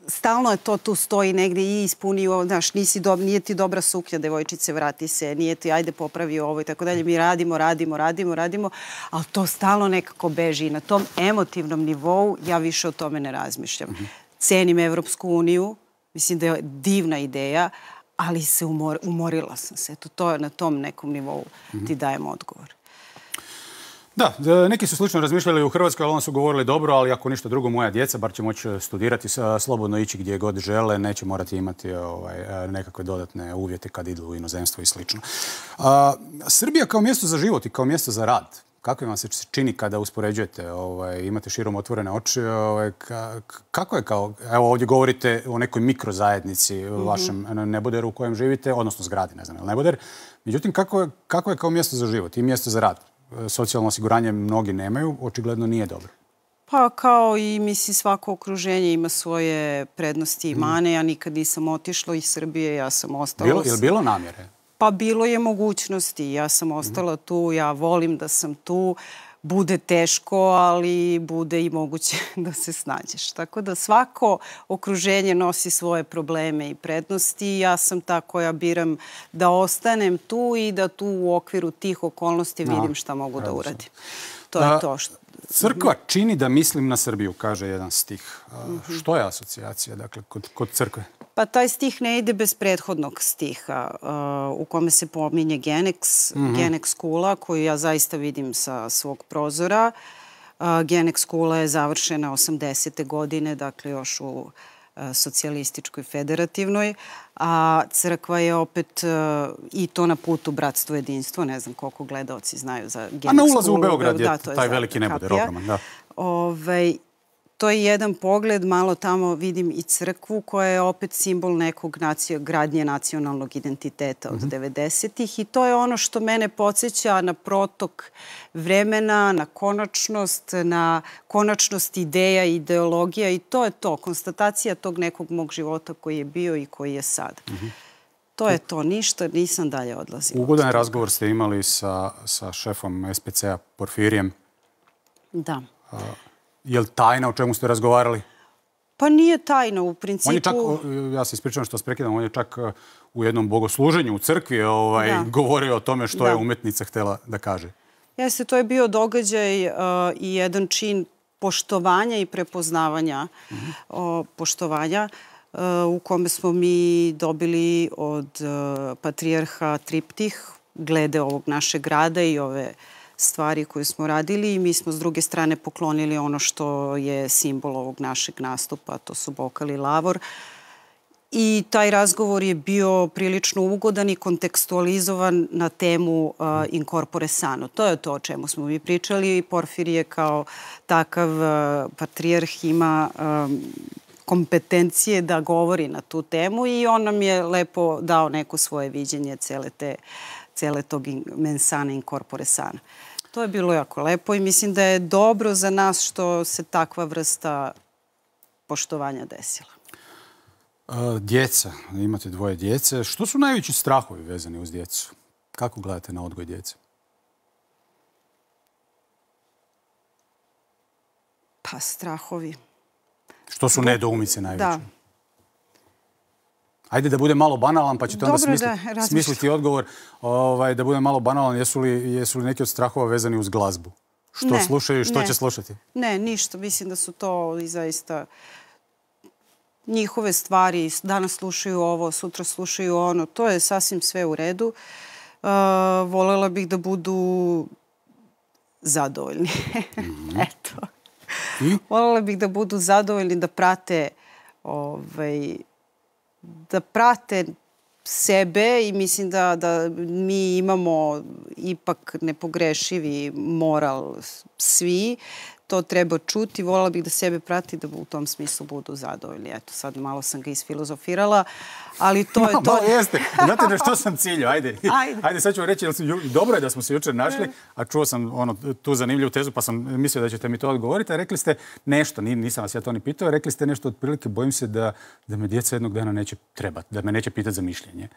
stalno je to tu stoji negdje i ispuni, znaš, nije ti dobra suknja, devojčice, vrati se, nije ti, ajde popravi ovo i tako dalje. Mi radimo, ali to stalno nekako beži i na tom emotivnom nivou ja više o tome ne razmišljam. Cenim Evropsku uniju, mislim da je divna ideja, ali se umorila sam se. To je na tom nekom nivou ti dajem odgovor. Da, neki su slično razmišljali u Hrvatskoj, ali oni su govorili dobro, ali ako ništa drugo, moja djeca, bar će moći studirati, slobodno ići gdje god žele, neće morati imati nekakve dodatne uvjete kad idu u inozemstvo i slično. Srbija kao mjesto za život i kao mjesto za rad, kako vam se čini kada uspoređujete, imate širom otvorene oči, kako je kao, evo ovdje govorite o nekoj mikrozajednici u vašem neboderu u kojem živite, odnosno zgradi, ne znam, ili neboder. Međutim, kako je kao mjesto za život i mjesto za rad? Socijalno osiguranje mnogi nemaju, očigledno nije dobro. Pa kao i mislim svako okruženje ima svoje prednosti i mane. Ja nikad nisam otišla iz Srbije, ja sam ostala... Je li bilo namjere? Pa bilo je mogućnosti. Ja sam ostala tu, ja volim da sam tu. Bude teško, ali bude i moguće da se snađeš. Tako da svako okruženje nosi svoje probleme i prednosti. Ja sam ta koja biram da ostanem tu i da tu u okviru tih okolnosti vidim šta mogu da uradim. To je to što... Crkva čini da mislim na Srbiju, kaže jedan stih. Što je asocijacija, dakle, kod crkve? Pa taj stih ne ide bez prethodnog stiha u kome se pominje Genex Kula, koju ja zaista vidim sa svog prozora. Genex Kula je završena 80. godine, dakle još u socijalističkoj federativnoj, a crkva je opet i to na putu bratstvo jedinstvo, ne znam koliko gledaoci znaju za Genik A na ulazu u Beograd je taj veliki neboder, ogroman, da. To je jedan pogled, malo tamo vidim i crkvu koja je opet simbol nekog gradnje nacionalnog identiteta od 90-ih i to je ono što mene podsjeća na protok vremena, na konačnost ideja i ideologija i to je to, konstatacija tog nekog mog života koji je bio i koji je sad. To je to, ništa, nisam dalje odlazila. Ugodan razgovor ste imali sa šefom SPC-a Porfirijem. Da. Je li tajna o čemu ste razgovarali? Pa nije tajna u principu. On je čak, ja se ispričavam što vas prekidam, on je čak u jednom bogosluženju u crkvi govorio o tome što je umetnica htjela da kaže. Jeste, to je bio događaj i jedan čin poštovanja i prepoznavanja poštovanja u kome smo mi dobili od patrijarha triptih glede ovog našeg grada i ove stvari koje smo radili i mi smo s druge strane poklonili ono što je simbol ovog našeg nastupa, to su bokal i lavor. I taj razgovor je bio prilično ugodan i kontekstualizovan na temu in corpore sano. To je to o čemu smo mi pričali. Porfirije kao takav patrijarh ima kompetencije da govori na tu temu i on nam je lepo dao neko svoje viđenje cele tog mensana in corpore sana. To je bilo jako lepo i mislim da je dobro za nas što se takva vrsta poštovanja desila. Djeca, imate dvoje djece. Što su najveći strahovi vezani uz djecu? Kako gledate na odgoj djece? Pa strahovi. Što su nedoumice najveće? Da. Ajde da bude malo banalan, pa ćete onda smisliti odgovor. Da bude malo banalan, jesu li neki od strahova vezani uz glazbu? Što slušaju i što će slušati? Ne, ništa. Mislim da su to i zaista njihove stvari. Danas slušaju ovo, sutra slušaju ono. To je sasvim sve u redu. Volela bih da budu zadovoljni. Eto. Volela bih da budu zadovoljni, da prate sebe i mislim da mi imamo ipak nepogrešivi moral svi. To treba čuti. Voljela bih da sebe prati da u tom smislu budu zadovoljni. Eto, sad malo sam ga isfilozofirala, ali to je to. Malo jeste. Znate na što sam ciljao? Ajde, sad ću vam reći, dobro je da smo se jučer našli, a čuo sam tu zanimljivu tezu, pa sam mislio da ćete mi to odgovoriti, a rekli ste nešto, nisam vas ja to ni pitao, rekli ste nešto otprilike, bojim se da me djeca jednog dana neće trebati, da me neće pitati za mišljenje.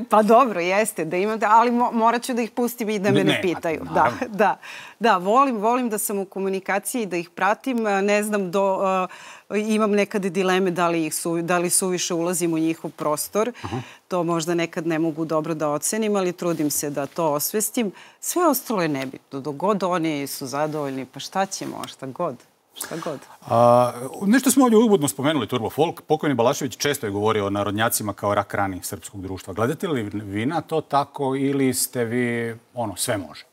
Pa dobro, jeste, da imate, ali morat ću da ih pustim i da me ne pitaju. Da, volim da sam u komunikaciji, da ih pratim, ne znam, imam nekad dileme da li suviše ulazim u njihov prostor. To možda nekad ne mogu dobro da ocenim, ali trudim se da to osvestim. Sve ostalo je nebitno. Dok god oni su zadovoljni, pa šta ćemo, šta god. Nešto smo ovdje uvodno spomenuli Turbo Folk. Pokojni Balašević često je govorio o narodnjacima kao rak rani srpskog društva. Gledate li vi na to tako ili ste vi sve može?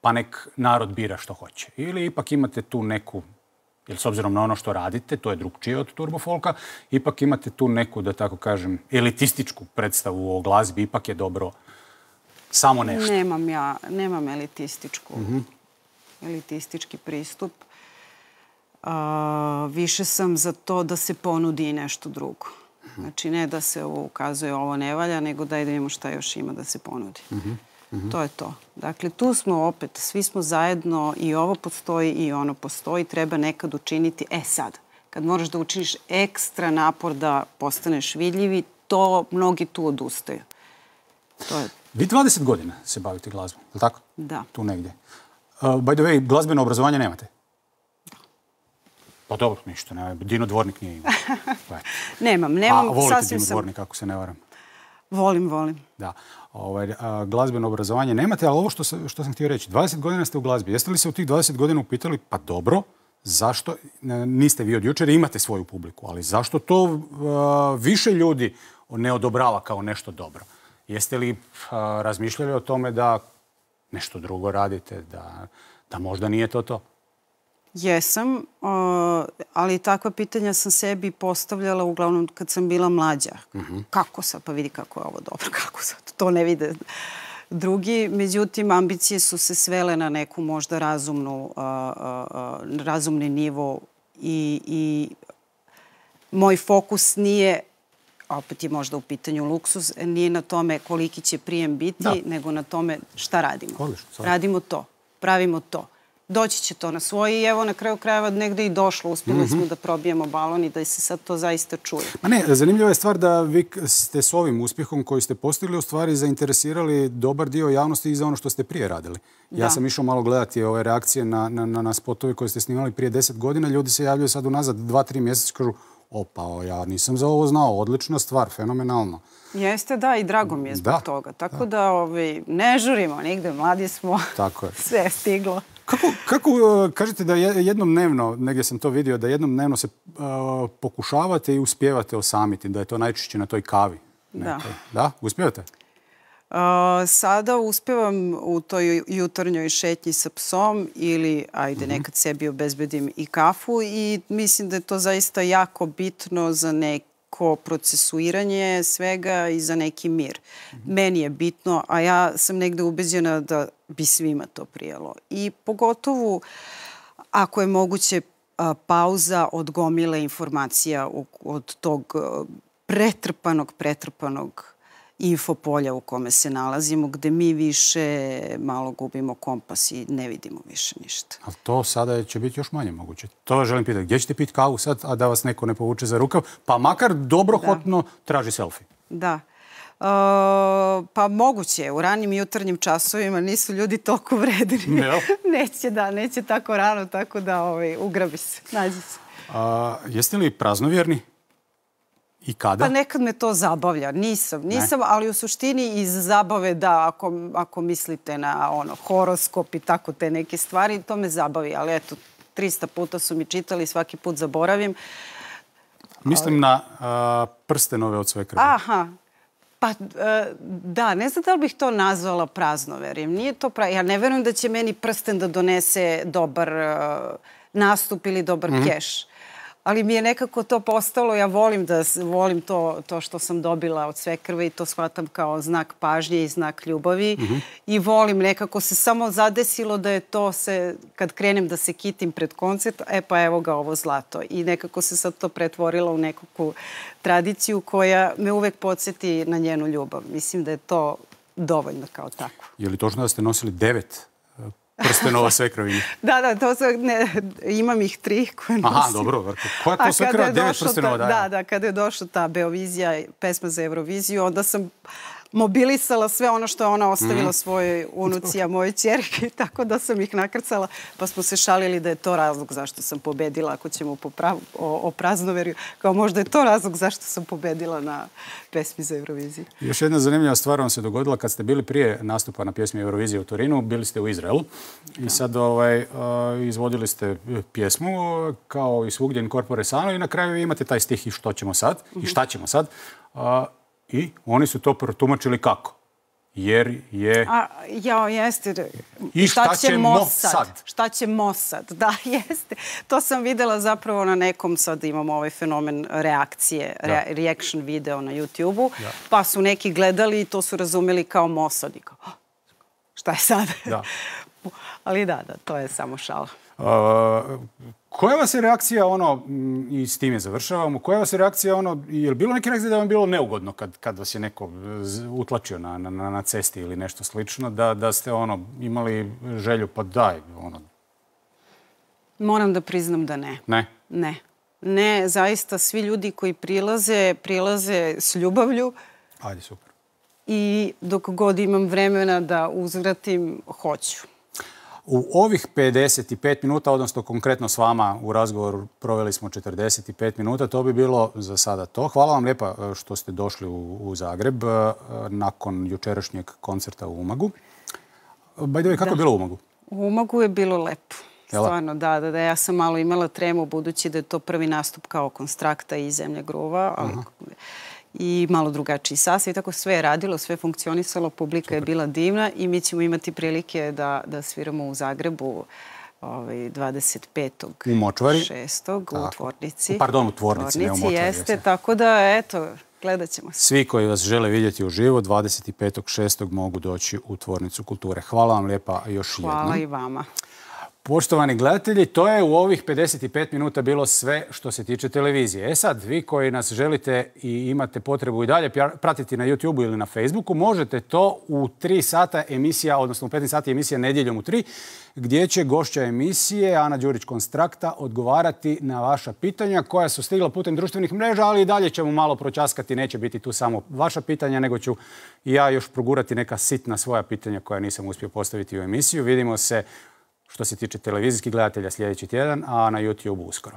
Pa nek narod bira što hoće. Ili ipak imate tu neku, jer s obzirom na ono što radite, to je drugčije od Turbo Folka, ipak imate tu neku, da tako kažem, elitističku predstavu o glazbi, ipak je dobro samo nešto. Nemam elitistički pristup. Više sam za to da se ponudi nešto drugo. Znači, ne da se ukazuje ovo ne valja, nego da vidimo šta još ima da se ponudi. To je to. Dakle, tu smo opet, svi smo zajedno i ovo postoji i ono postoji. Treba nekad učiniti, sad, kad moraš da učiniš ekstra napor da postaneš vidljivi, to mnogi tu odustaju. Vi 20 godina se bavite glazbom, je li tako? Da. Tu negdje. By the way, glazbeno obrazovanje nemate? Da. Pa dobro, ništa, ne. Dino Dvornik nije imao. Nemam, a volite Dino Dvornik, ako se ne varam? Volim. Da. Glazbeno obrazovanje nemate, ali ovo što sam htio reći, 20 godina ste u glazbi. Jeste li se u tih 20 godina upitali, pa dobro, zašto, niste vi od jučer, imate svoju publiku, ali zašto to više ljudi ne odobrava kao nešto dobro? Jeste li razmišljali o tome da nešto drugo radite, da možda nije to? Jesam, ali takva pitanja sam sebi postavljala uglavnom kad sam bila mlađa. Kako sad? Pa vidi kako je ovo dobro, kako sad? To ne vide drugi. Međutim, ambicije su se svele na neku možda razumni nivo i moj fokus nije, opet je možda u pitanju luksuz, nije na tome koliki će prijem biti, nego na tome šta radimo. Radimo to, pravimo to. Doći će to na svoje i evo na kraju krajeva negde i došlo. Uspjeli smo da probijemo balon i da se sad to zaista čuje. Ma ne, zanimljiva je stvar da vi ste s ovim uspjehom koji ste postigli u stvari zainteresirali dobar dio javnosti i za ono što ste prije radili. Ja sam išao malo gledati ove reakcije na spotove koje ste snimali prije 10 godina. Ljudi se javljaju sad unazad 2-3 mjeseca i kažu opa, ja nisam za ovo znao, odlična stvar, fenomenalno. Jeste, da, i drago mi je zbog toga. Tako da ne žurimo nigde, mladi smo, sve je stiglo. Kako kažete da jednom dnevno, negdje sam to vidio, da jednom dnevno se pokušavate i uspijevate osamiti, da je to najčešće na toj kavi? Da. Da? Uspijevate? Sada uspevam u toj jutarnjoj šetnji sa psom ili, ajde, nekad sebi obezbedim i kafu i mislim da je to zaista jako bitno za neko procesuiranje svega i za neki mir. Meni je bitno, a ja sam negde ubeđena da bi svima to prijelo. I pogotovo ako je moguće pauza od gomile informacija od tog pretrpanog infopolja u kome se nalazimo, gde mi više malo gubimo kompas i ne vidimo više ništa. Ali to sada će biti još manje moguće. To vas želim pitati. Gdje ćete piti kavu sad, a da vas neko ne povuče za rukav? Pa makar dobrohotno traži selfie. Da. Pa moguće. U ranim jutarnjim časovima nisu ljudi toliko vredni. Neće tako rano, tako da ugrabi se, nađi se. Jeste li praznovjerni? I kada? Pa nekad me to zabavlja. Nisam, ali u suštini iz zabave da, ako mislite na horoskop i tako te neke stvari, to me zabavi. Ali eto, 300 puta su mi čitali, svaki put zaboravim. Mislim na prstenove od sve krvi. Aha. Pa da, ne znam da li bih to nazvala praznoverjem. Nije to ja ne verujem da će meni prsten da donese dobar nastup ili dobar keš. Ali mi je nekako to postalo, ja volim to što sam dobila od svekrve i to shvatam kao znak pažnje i znak ljubavi. I volim, nekako se samo zadesilo da je to kad krenem da se kitim pred koncert, pa evo ga ovo zlato. I nekako se sad to pretvorilo u nekakvu tradiciju koja me uvek podsjeti na njenu ljubav. Mislim da je to dovoljno kao tako. Je li točno da ste nosili 9 prstenova svekrvini? Da, imam ih 3 koje nosim. Aha, dobro. Koja to svekrva 9 prstenova daje? Da, kada je došla ta Beovizija, pesma za Euroviziju, onda sam mobilisala sve ono što je ona ostavila svojoj unuci, a mojoj ćerki, tako da sam ih nakrcala, pa smo se šalili da je to razlog zašto sam pobedila, ako ćemo o praznoverju, kao možda je to razlog zašto sam pobedila na pesmi za Euroviziju. Još jedna zanimljiva stvar vam se dogodila kad ste bili prije nastupa na pjesmi Eurovizije u Torinu, bili ste u Izraelu i sad izvodili ste pjesmu kao i svugdje in corpore sano i na kraju imate taj stih i što ćemo sad, i šta ćemo sad. I oni su to protumačili kako? Jer je... Jeste. I šta ćemo sad? Šta ćemo sad? Da, jeste. To sam videla zapravo na nekom, sad imamo ovaj fenomen reakcije, reaction video na YouTube-u, pa su neki gledali i to su razumeli kao Mossad. Šta je sad? Ali da, to je samo šala. Koja vas je reakcija, i s time završavamo, koja vas je reakcija, je li bilo neke reakcije da vam bilo neugodno kad vas je neko utlačio na cesti ili nešto slično, da ste imali želju, pa daj, Moram da priznam da ne. Ne? Ne. Ne, zaista svi ljudi koji prilaze s ljubavlju. Ajde, super. I dok god imam vremena da uzvratim, hoću. U ovih 55 minuta, odnosno konkretno s vama u razgovoru proveli smo 45 minuta, to bi bilo za sada to. Hvala vam lijepa što ste došli u Zagreb nakon jučerašnjeg koncerta u Umagu. By the way, kako je bilo u Umagu? U Umagu je bilo lepo. Stvarno, da. Ja sam malo imala tremu budući da je to prvi nastup kao Konstrakta i Zemlja gruva, i malo drugačiji sastav. I tako sve je radilo, sve funkcionisalo, publika je bila divna i mi ćemo imati prilike da sviramo u Zagrebu 25. U Močvari. 6. u tvornici. Pardon, u tvornici, ne u Močvari. Jeste, tako da, eto, gledat ćemo se. Svi koji vas žele vidjeti uživo, 25.6. mogu doći u Tvornicu kulture. Hvala vam lijepa još jednom. Hvala i vama. Poštovani gledatelji, to je u ovih 55 minuta bilo sve što se tiče televizije. Sad, vi koji nas želite i imate potrebu i dalje pratiti na YouTubeu ili na Facebooku, možete to u 3 sata emisija, odnosno u 15 sati emisija Nedjeljom u 3, gdje će gošća emisije Ana Đurić-Konstrakta odgovarati na vaša pitanja koja su stigla putem društvenih mreža, ali i dalje ćemo malo pročaskati, neće biti tu samo vaša pitanja, nego ću i ja još progurati neka sitna svoja pitanja koja nisam uspio postaviti u emisiju. Vidimo se što se tiče televizijskih gledatelja sljedeći tjedan, a na YouTube uskoro.